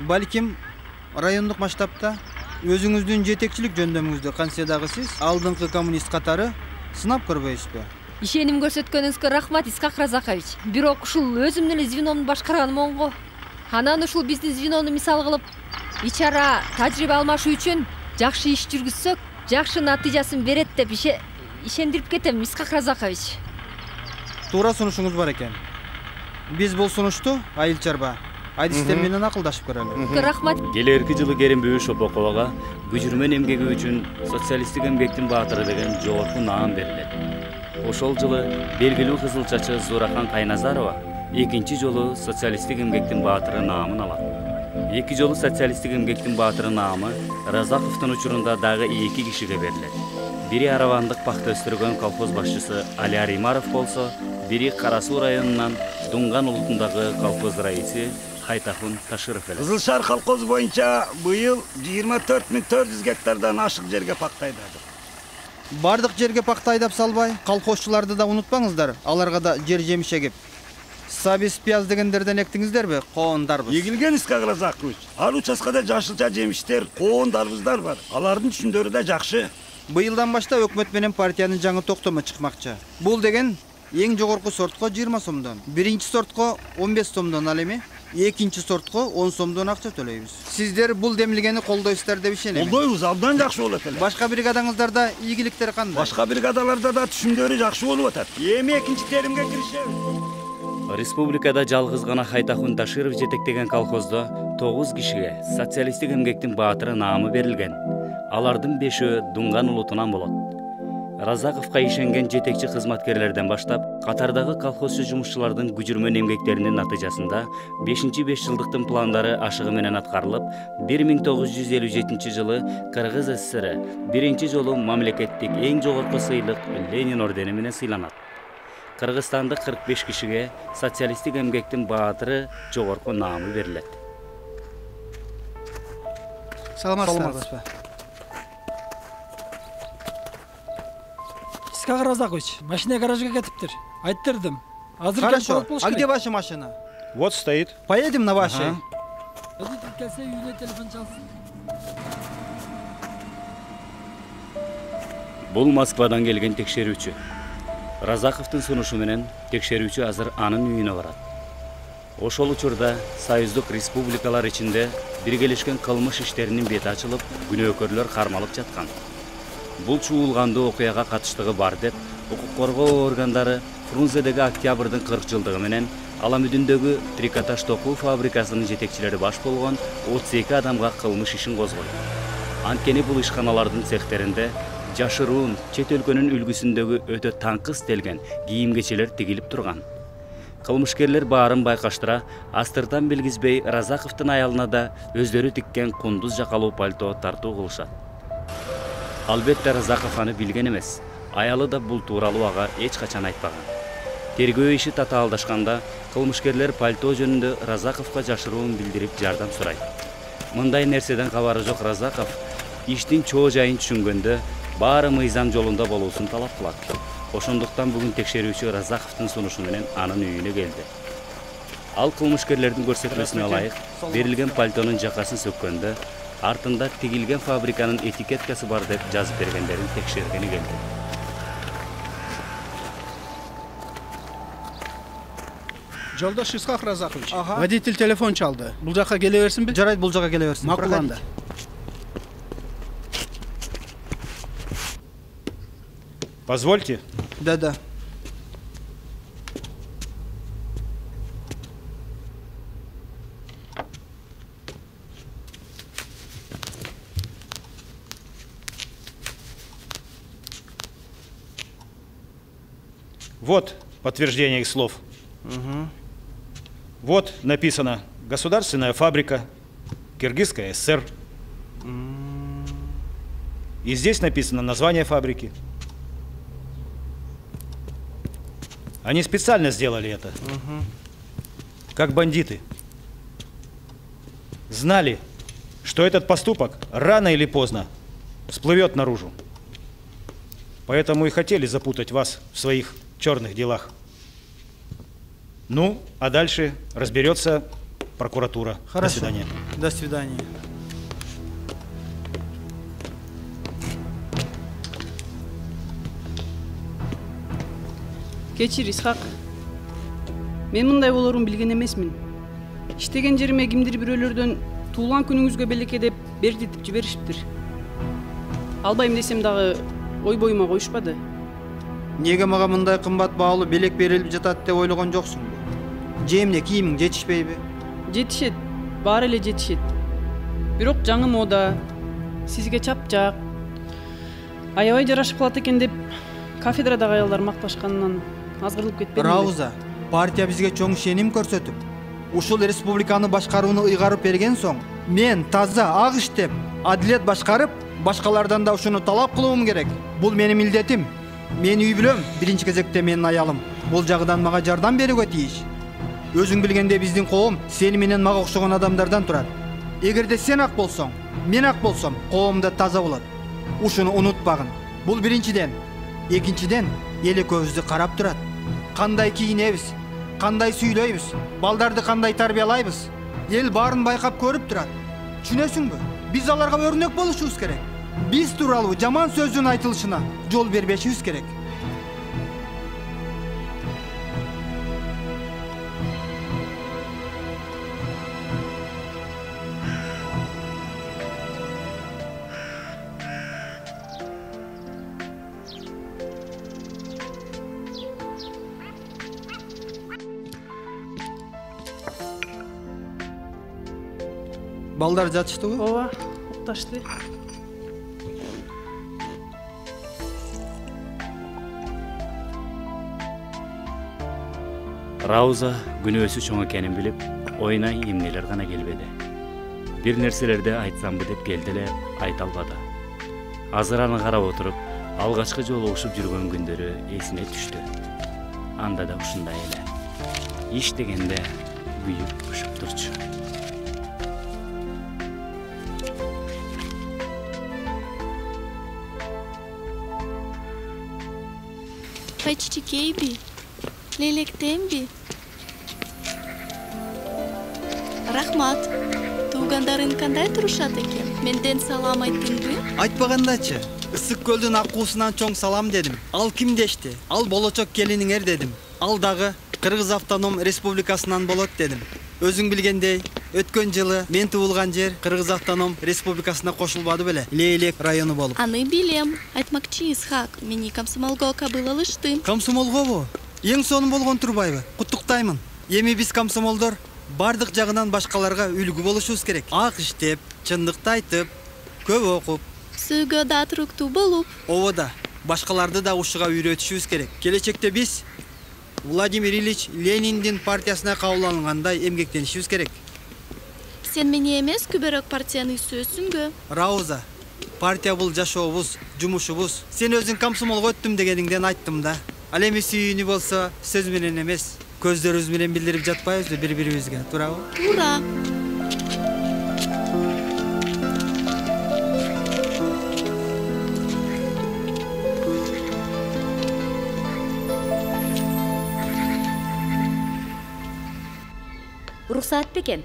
Speaker 7: Балким райондук масштабта өзүңүздүн жетекчилик жөндөмүңүздү кантсе дагы сиз алдыңкы коммунист катары сынап көрбөйсүзбү?
Speaker 6: Ишеним көрсөткөнүңүзгө рахмат, Исхак Разакович. Бирок ушул өзүм эле звеномду башкарганым го. Анан ушул биздин звенону мисал кылып, ич ара тажрыйба алмашуу үчүн жакшы иш жүргүзсөк, жакшы натыйжасын берет деп ишендирип кетем, Исхак Разакович.
Speaker 7: Туура сунушуңуз бар экен. Биз бул сунушту айыл чарба адистер менен акылдашып көрөлү.
Speaker 6: Рахмат.
Speaker 2: Келерки жылы Керимбүй Шопоковага күжүрмөн эмгеги үчүн социалисттик эмгектин баатыры деген жогорку наам берилет. Ошол жылы белгилүү кызылчачы Зурахан Кайназарова экинчи жолу социалисттик эмгектин баатыры наамын алат. Эки жолу социалисттик эмгектин баатыры наамы Разаковдун учурунда дагы эки кишиге берилет. Бири Аравандык пахта өстүргөн колхоз башчысы Али Аримаров болсо, бири Кара Суу районунан Дунган улутундагы колхоз раиси Хайтахун Ташыров эле.
Speaker 14: Кызыл Шаар колхозу боюнча быйыл жыйырма төрт миң төрт жүз гектардан ашык жерге пахта айдадык.
Speaker 7: Бардык жерге пахта айдап салбай, колхозчуларды да унутпаңыздар. Аларга да жер жемиш эгип. Сабиз, пияз дегендерден эктиңиздерби? Коондарбыз.
Speaker 14: Эгилген Исхак Разакович. Ал участкада жашылча жемиштер, коондарбыздар бар. Алардын түшүндөрү да жакшы.
Speaker 7: Быйылдан баштап өкмөт менен партиянын жаңы токтому чыкмакчы. Бул деген эң жогорку сортко жыйырма сомдон, биринчи сортко он беш сомдон, ал эми экинчи сортко он сомдон акча төлөйбүз. Сиздер бул демилгени колдойсуздар деп ишенем.
Speaker 14: Колдойбуз, абдан жакшы болот эле.
Speaker 7: Башка бригадаңыздарда ийгиликтер кандай?
Speaker 14: Башка бригадаларда да түшүмдөрү жакшы болуп атат. Эми экинчи теримге киришебиз.
Speaker 2: Республикада жалгыз гана Хайтахун Ташыров жетектеген колхоздо тогуз кишиге социалисттик эмгектин баатыры наамы берилген. Алардын бешөө Дунган улутунан болот. Разаковка ишенген жетекчи кызматкерлерден баштап, катардагы колхозчу жумушчулардын күжүрмөн эмгектеринин натыйжасында бешинчи беш жылдыктын пландары ашыгы менен аткарылып, бир миң тогуз жүз элүү жетинчи жылы Кыргыз ССР биринчи жолу мамлекеттик эң жогорку сыйлык Ленин ордени менен сыйланат. Кыргызстандык кырк беш кишиге социалисттик эмгектин баатыры жогорку наамы берилет.
Speaker 16: Саламатсызбы? Исхак Разакович, машина гаражга кетиптир. Айттырдым. Азыр келип болот болуш керек.
Speaker 7: А где ваша машина?
Speaker 20: Вот стоит.
Speaker 7: Поедем на вашей.
Speaker 16: Водитель келсе үйүнө телефон чалсын.
Speaker 2: Бул Москвадан келген текшерүүчү. Разаковдун сунушу менен текшерүүчү азыр анын үйүнө барат. Ошол учурда союздук республикалар ичинде биргелешкен кылмыш иштеринин бети ачылып, күнөөкөрлөр кармалып жаткан. Бул чуулгандуу окуяга катыштыгы бар деп, укук коргоо органдары Фрунзедеги октябрдын кырк жылдыгы менен Аламүдүндөгү трикотаж токуу фабрикасынын жетекчилери баш болгон отуз эки адамга кылмыш ишин козгойт. Анткени бул ишканалардын цехтеринде жашыруун чет өлкөнүн үлгүсүндөгү өтө таңкы истелген кийим-кечелер тигилип турган. Кылмышкерлер баарын байкаштыра, астыртан билгизбей Разаковдун аялына да өздөрү тиккен кундуз жакалуу пальто тартуу кылышат. Албетте Разаков аны билген эмес. Аялы да бул тууралуу ага эч качан айтпаган. Тергөө иши татаалдашканда кылмышкерлер пальто жөнүндө Разаковго жашыруун билдирип жардам сурайт. Мындай нерседен кабары жок Разаков иштин чоо жайын түшүнгөндө баары мыйзам жолунда болуусун талап кылат. Ошондуктан бүгүн текшерүүчү Разаковдун сунушу менен анын үйүнө келди. Ал кылмышкерлердин көрсөтмөсүнө ылайык берилген пальтонун жакасын сөккөндө артында тигилген фабриканын этикеткасы бар деп жазып бергендерин текшергени келди.
Speaker 16: Жолдош Исхак Разакович, водитель телефон чалды. Бул жака келе берсинби?
Speaker 7: Жарайт, бул жака келе берсин.
Speaker 16: Макуланды.
Speaker 20: Позвольте.
Speaker 7: Да-да.
Speaker 20: Вот подтверждение их слов.
Speaker 7: Угу.
Speaker 20: Вот написано «Государственная фабрика, Киргизская ССР». И здесь написано название фабрики.
Speaker 9: Они специально сделали это. Как бандиты. Знали, что этот поступок рано или поздно всплывет наружу. Поэтому и хотели запутать вас в своих черных делах. Ну, а дальше разберется прокуратура.
Speaker 7: Хорошо.
Speaker 9: До свидания.
Speaker 7: До свидания.
Speaker 17: Кечир, Исхак. Мен мындай болорун билген эмесмин. Иштеген жериме кимдир бирөөлөрдөн туулган күнүңүзгө белекке деп бердитип жиберишиптир. Албайм десем дагы ой боюма коюшпады.
Speaker 7: Неге мага мындай кымбат баалуу белек берилип жатат деп ойлогон жоксуңбу? Же эмне, кийимиң жетишпейби?
Speaker 17: Жетишет, баары эле жетишет. Бирок жаңы мода, сизге чапчак, аябай жарашып калат экен деп кафедрадагы аялдар макташканынан азгырылып кетпедимби?
Speaker 7: Рауза, партия бизге чоң ишеним көрсөтүп, ушул республиканы башкарууну ыйгарып берген соң, мен таза ак иштеп, адилет башкарып, башкалардан да ушуну талап кылуум керек. Бул менин милдетим. Мен үй бүлөм, биринчи кезекте менин аялым. Бул жагынан мага жардам берүүгө тийиш. Өзүң билгенде биздин коом сени менен мага окшогон адамдардан турат. Эгерде сен ак болсоң, мен ак болсом, коом да таза болот. Ушуну унутпагын. Бул биринчиден. Экинчиден, эл экөөбүздү карап турат. Кандай кийинебиз, кандай сүйлөйбүз, балдарды кандай тарбиялайбыз. Эл баарын байкап көрүп турат. Түшүнөсүңбү? Биз аларга өрнөк болушубуз керек. Биз тууралуу жаман сөздүн айтылышына жол бербешибиз керек. Балдар жатыштыбы?
Speaker 17: Ооба, укташты.
Speaker 2: Рауза күнөөсү чоң экенин билип, оюна эмнелер гана келбеди. Бир нерселерди айтсамбы деп келди эле, айта албады. Азыр аны карап отуруп, алгачкы жолу ушуп жүргөн күндөрү эсине түштү. Анда да ушундай эле. Иш дегенде күйүп ушуп турчу.
Speaker 23: Кайчичикейби, лелектемби. Рахмат. Туугандарың кандай турушат экен? Менден салам айттыңбы?
Speaker 7: Айтпагандачы. Ысык көлдүн аккуусунан чоң салам дедим. Ал ким дешти? Ал болочок келиниңер дедим. Ал дагы Кыргыз Автоном Республикасынан болот дедим. Өзүң билгендей, өткөн жылы мен туулган жер Кыргыз Автоном Республикасына кошулбады беле? Лейлек району болуп.
Speaker 23: Аны билем. Айтмакчы, Исхак, мени комсомолго кабыл алышты.
Speaker 7: Комсомолгобу? Эң сонун болгон турбайбы? Куттуктаймын. Эми биз комсомолдор бардык жагынан башкаларга үлгү болушубуз керек. Ак иштеп, чындыкты айтып, көп окуп,
Speaker 23: Сүйгө да туруктуу болуп.
Speaker 7: Ооба да, башкаларды да ушуга үйрөтүшүбүз керек. Келечекте биз Владимир Ильич Лениндин партиясына кабыл алынгандай эмгектенишибиз керек.
Speaker 23: Сен мени эмес, күбөрөк партияны сөзсүңбү?
Speaker 7: Рауза, партия бул жашообуз, жумушубуз. Сен өзүң комсомолго өттүм дегениңден айттым да. Ал эми сүйүүнү болсо сөз менен эмес, көздөрүбүз менен билдирип жатпайбызбы бири-бирибизге, туурабы?
Speaker 23: Туура.
Speaker 24: Уруксаат бекен?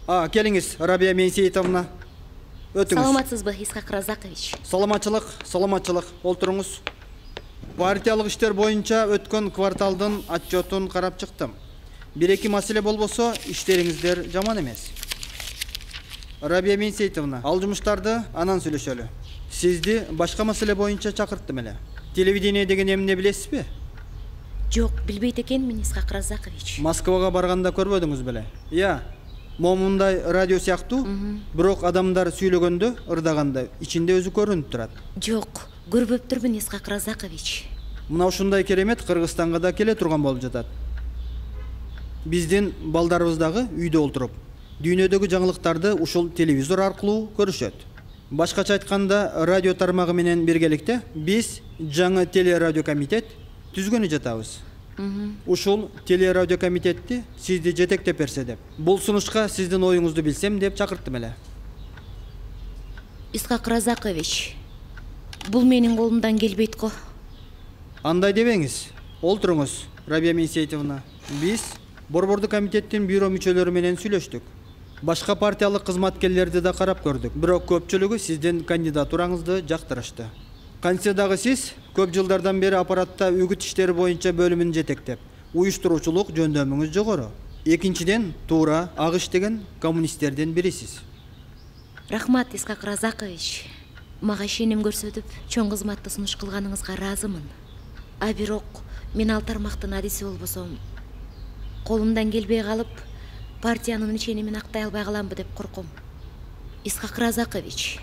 Speaker 7: А, келиңиз, Рабия Менсеитовна. Өтүңүз.
Speaker 24: Саламатсызбы, Исхак Разакович?
Speaker 7: Саламатчылык, саламатчылык. Олтуруңуз. Партиялык иштер боюнча өткөн кварталдын отчетун карап чыктым. Бир-эки маселе болбосо, иштериңиздер жаман эмес. Рабия Менсеитовна, ал жумуштарды анан сүйлөшөлү. Сизди башка маселе боюнча чакырттым эле. Телевидение деген эмне билесизби?
Speaker 24: Жок, билбейт экенмин, Исхак Разакович.
Speaker 7: Москвага барганда көрбөдүңүз беле? Я, момундай радио сыяктуу, бирок адамдар сүйлөгөндө, ырдаганда ичинде өзү көрүнүп турат.
Speaker 24: Жок, көрбөптүрмүн, Исхак Разакович.
Speaker 7: Мына ушундай керемет Кыргызстанга да келе турган болуп жатат. Биздин балдарыбыз дагы үйдө олтуруп, дүйнөдөгү жаңылыктарды ушул телевизор аркылуу көрүшөт. Башкача айтканда, радио тармагы менен биргеликте биз жаңы телерадио комитет түзгөнү жатабыз. Ушул телерадио комитетти сизди жетектеп берсе деп. Бул сунушка сиздин оюңузду билсем деп чакырттым эле.
Speaker 24: Исхак Разакович, бул менин колумдан келбейт го.
Speaker 7: Андай дебеңиз. Олтуруңуз, Рабия Мейсейтовна. Биз Борбордук комитеттин бюро мүчөлөрү менен сүйлөштүк. Башка партиялык кызматкерлерди да карап көрдүк. Бирок көпчүлүгү сиздин кандидатураңызды жактырышты. Кантсе дагы сиз көп жылдардан бери аппаратта үгүт иштери боюнча бөлүмүн жетектеп, уюштуруучулук жөндөмүңүз жогору. Экинчиден, туура ак иштеген коммунисттердин бирисиз.
Speaker 24: Рахмат, Исхак Разакович. Мага ишеним көрсөтүп, чоң кызматты сунуш кылганыңызга ыраазымын. А бирок мен ал тармактын адиси болбосом, колумдан келбей калып, партиянын ишенимин актай албай каламбы деп корком. Исхак Разакович,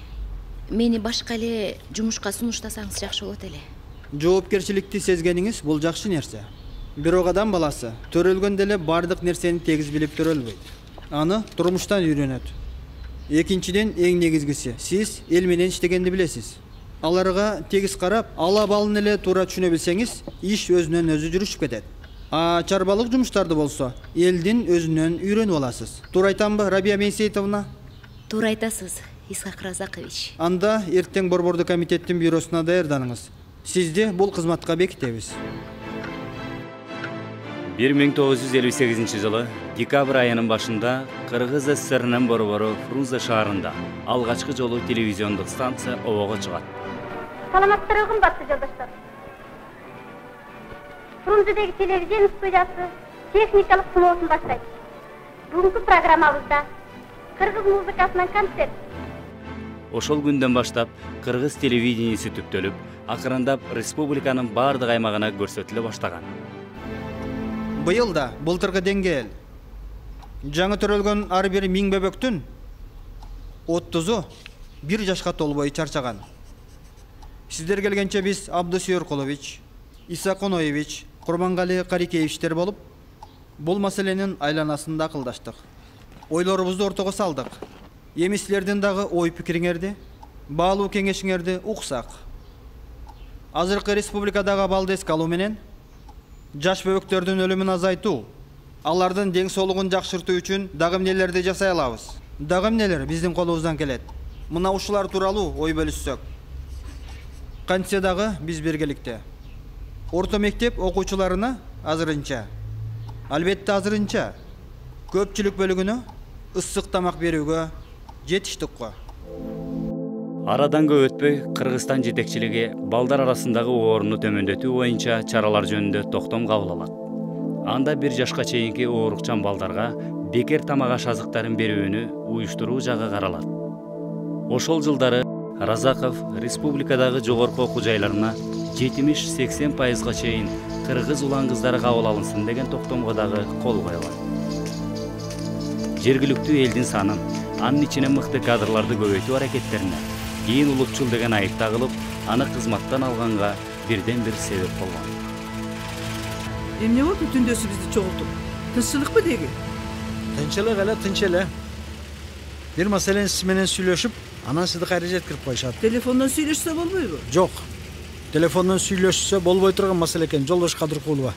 Speaker 24: мени башка эле жумушка сунуштасаңыз жакшы болот эле.
Speaker 7: Жоопкерчиликти сезгениңиз бул жакшы нерсе. Бирок адам баласы төрөлгөндө эле бардык нерсени тегиз билип төрөлбөйт. Аны турмуштан үйрөнөт. Экинчиден, эң негизгиси, сиз эл менен иштегенди билесиз. Аларга тегиз карап, ала балын эле туура түшүнө билсеңиз, иш өзүнөн өзү жүрүшүп кетет. А чарбалык жумуштарды болсо, элдин өзүнөн үйрөнүп аласыз. Туура айтамбы, Рабия Мейсейтовна?
Speaker 24: Туура айтасыз, Исхак Разакович.
Speaker 7: Анда эртең Борбордук комитеттин бюросуна даярданыңыз. Сизди бул кызматка бекитебиз.
Speaker 2: бир миң тогуз жүз элүү сегизинчи жылы декабрь айынын башында Кыргыз СССРинин борбору Фрунзе шаарында алгачкы жолу телевизиондук станция обого чыгат.
Speaker 4: Саламаттарбы, кымбаттуу жолдоштор. Фрунзедеги телевизион студиясы техникалык сыноосун баштайт. Бүгүнкү программабызда кыргыз музыкасынан концерт.
Speaker 2: Ошол күндөн баштап кыргыз телевидениеси түптөлүп, акырындап республиканын бардык аймагына көрсөтүлө баштаган.
Speaker 7: Быйыл да былтыркы деңгээл. Жаңы төрөлгөн ар бир миң бөбөктүн отузу бир жашка толбой чарчаган. Сиздер келгенче биз Абдусүйөр Юркулович, Иса Коноевич, Курмангали Карикеевичтер болуп, бул маселенин айланасында акылдаштык. Ойлорубузду ортого салдык. Эми силердин дагы ой пикириңерди, баалуу кеңешиңерди уксак. Азыркы республикадагы абалды эске алуу менен жаш бөбөктөрдүн өлүмүн азайтуу, алардын дең соолугун жакшыртуу үчүн дагы эмнелерди жасай алабыз? Дагы эмнелер биздин колубуздан келет? Мына ушулар тууралуу ой бөлүшсөк. Кантсе дагы биз биргеликте. Орто мектеп окуучуларына азырынча, албетте азырынча, көпчүлүк бөлүгүнө ысык тамак берүүгө жетиштик го.
Speaker 2: Арадан көп өтпөй Кыргызстан жетекчилиги балдар арасындагы орунду төмөндөтүү боюнча чаралар жөнүндө токтом кабыл алат. Анда бир жашка чейинки оорукчан балдарга бекер тамак аш азыктарын берүүнү уюштуруу жагы каралат. Ошол жылдары Разаков республикадагы жогорку окуу жайларына жетимиш сексен пайызга чейин кыргыз улан кыздары кабыл алынсын деген токтомго дагы кол коюлат. Жергиликтүү элдин санын, анын ичине мыкты кадрларды көбөйтүү аракеттерине кийин улутчул деген айып тагылып, аны кызматтан алганга бирден бир себеп болгон.
Speaker 8: Эмне болду түндөсү бизди чогултуп? Тынччылыкпы деги?
Speaker 18: Тынччылык эле, тынч эле. Бир маселени сиз менен сүйлөшүп, анан сизди кайра жеткирип коюшат.
Speaker 8: Телефондон сүйлөшсө болбойбу?
Speaker 18: Жок. Телефондон сүйлөшсө болбой турган маселе экен, жолдош Кадыркулова.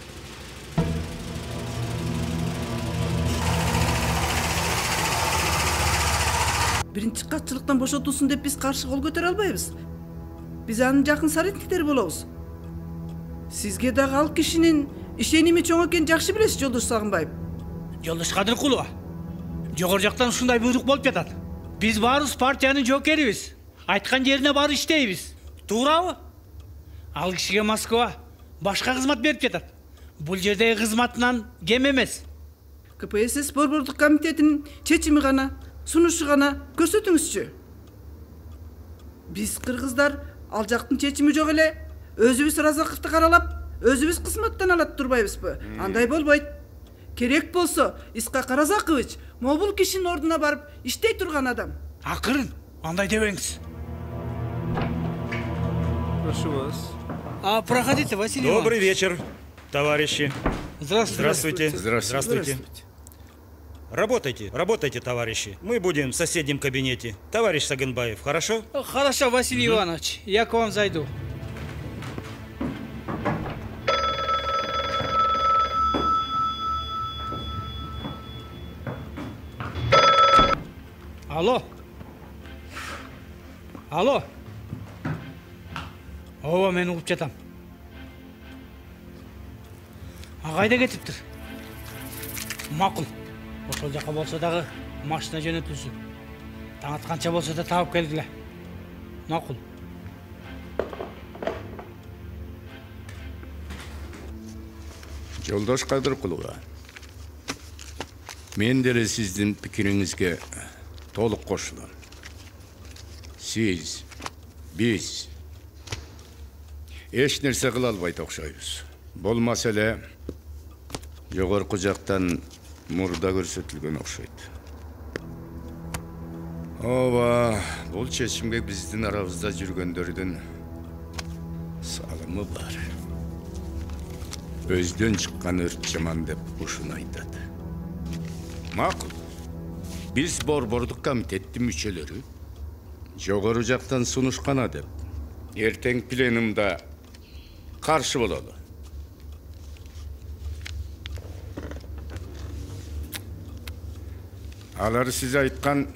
Speaker 8: Биринчи катчылыктан бошотулсун деп биз каршы кол көтөрө албайбыз. Биз анын жакын соратниктери болобуз. Сизге дагы ал кишинин ишеними чоң экенин жакшы билесиз, жолдош Сагынбаев.
Speaker 10: Жолдош Кадыркулова, жогору жактан ушундай буйрук болуп жатат. Биз баарыбыз партиянын жоокерибиз. Айткан жерине барып иштейбиз. Туурабы? Ал кишиге Москва башка кызмат берип жатат. Бул жердеги кызматынан кем эмес.
Speaker 8: КПСС Борбордук комитетинин чечими гана, сунушу гана көрсөтүңүзчү. Биз кыргыздар ал жактын чечими жок эле, өзүбүз Разаковду каралап, өзүбүз кызматтан алат турбайбызбы? Андай болбойт. Керек болсо, Исхак Разакович могул кишинин ордуна барып иштей турган адам.
Speaker 10: Акырын, андай дебеңиз.
Speaker 12: Прошу вас.
Speaker 10: А, проходите, Василий
Speaker 9: Добрый вечер, товарищи.
Speaker 10: Здравствуйте.
Speaker 9: Здравствуйте. Здравствуйте. Работайте, работайте, товарищи. Мы будем в соседнем кабинете. Товарищ Сагынбаев, хорошо?
Speaker 10: Хорошо, Василий угу. Иванович, я к вам зайду. Алло. Алло. Ооба, мен угуп жатам. А кайда кетиптир? Макул. Ошол жака болсо дагы машина жөнөтүлсүн. Таң атканча болсо да таап келгиле. Макул.
Speaker 1: Жолдош Кадыркулова, мен деле сиздин пикириңизге толук кошулам. Сиз, биз эч нерсе кыла албайт окшойбуз. Болмаса эле жогорку жактан мурда көрсөтүлгөн окшойт. Ооба, бул чечимге биздин арабызда жүргөндөрдүн салымы бар. Өздөн чыккан өрт жаман деп ушуну айтат. Макул. Биз Борбордук комитеттин мүчөлөрү жогору жактан сунушкана деп эртең пленумда каршы бололу. Алар сиз айткан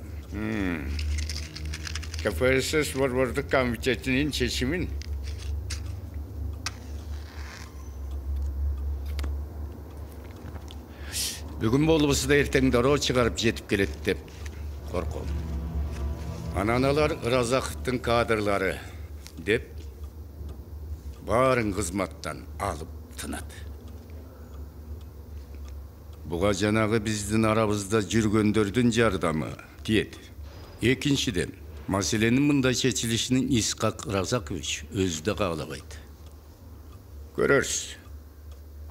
Speaker 1: КПСС Борбордук комитетинин чечимин бүгүн болбосо да эртең дароо чыгарып жетип келет деп корком. Анан алар Ыразаковдун кадрлары деп баарын кызматтан алып тынат. Буга жанагы биздин арабызда жүргөндөрдүн жардамы тиет. Экинчиден, маселенин мындай чечилишин Исхак Ыразакович өзү да каалабайт. Көрөрсүз.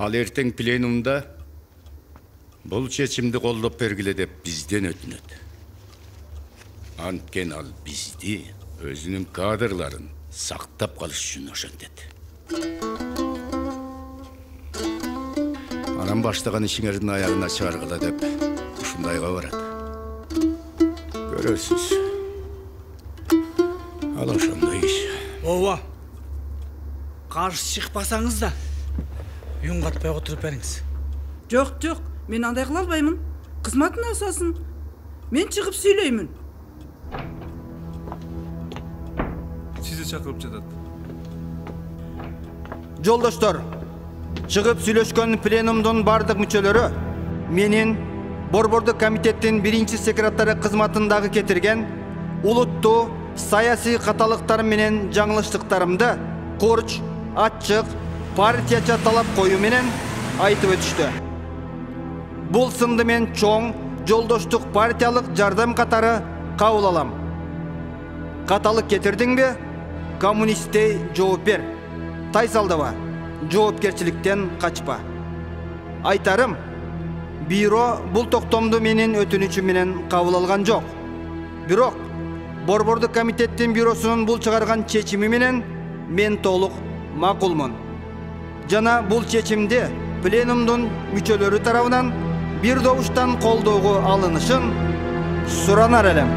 Speaker 1: Ал эртең пленумда бул чечимди колдоп бергиле деп бизден өтүнөт. Анткен ал бизди, өзүнүн кадрларын сактап калыш үчүн ошентет. Анан баштаган ишиңердин аягына чыгаргыла деп ушундайга барат. Көрөсүз. Ал ошондой иш.
Speaker 10: Ооба. Каршы чыкпасаңыз да үн катпай отуруп бериңиз.
Speaker 8: Жок, жок. Мен андай кыла албаймын. Кызматтын асасын. Мен чыгып сүйлөймүн.
Speaker 12: Сизди чакырып жатат.
Speaker 7: Жолдоштор, чыгып сүйлөшкөн пленумдун бардык мүчөлөрү менин Борбордук комитеттин биринчи секретары кызматындагы кетирген улуттуу саясий каталыктар менен жаңылыштыктарымды курч, ачык, партияча талап коюу менен айтып өтүштү. Бул сынды мен чоң жолдоштук партиялык жардам катары кабыл алам. Каталык кетирдиңби? Коммунисттей жооп бер. Тайсалдаба, жоопкерчиликтен качпа. Айтарым, бюро бул токтомду менин өтүнүчүм менен кабыл алган жок. Бирок Борбордук комитеттин бюросунун бул чыгарган чечими менен мен толук макулмун. Жана бул чечимди пленумдун мүчөлөрү тарабынан бир добуштан колдоого алынышын суранар элем.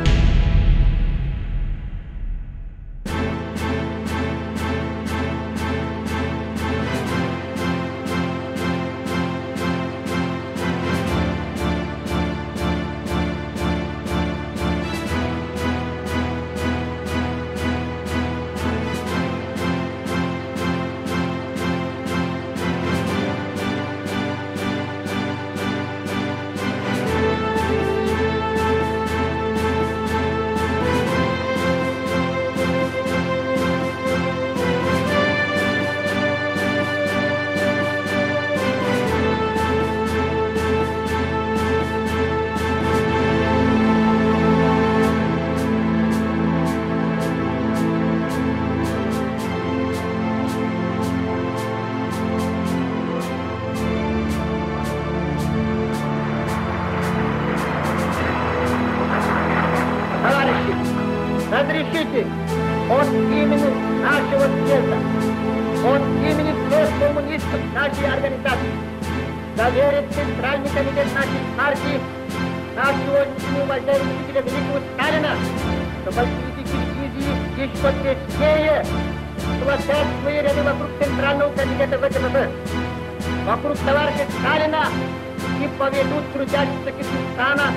Speaker 11: Разрешите от имени нашего съезда, от имени всех коммунистов нашей организации заверить Центральный комитет нашей партии нашего уважаемого великого Сталина, что политики дивизии еще теснее сплотят свои ряды вокруг Центрального комитета ВКПБ, вокруг товарища Сталина и поведут трудящихся Киргизстана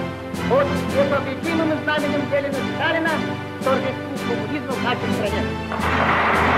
Speaker 11: под непобедимым знаменем Ленина Сталина торжеству коммунизма в нашей стране.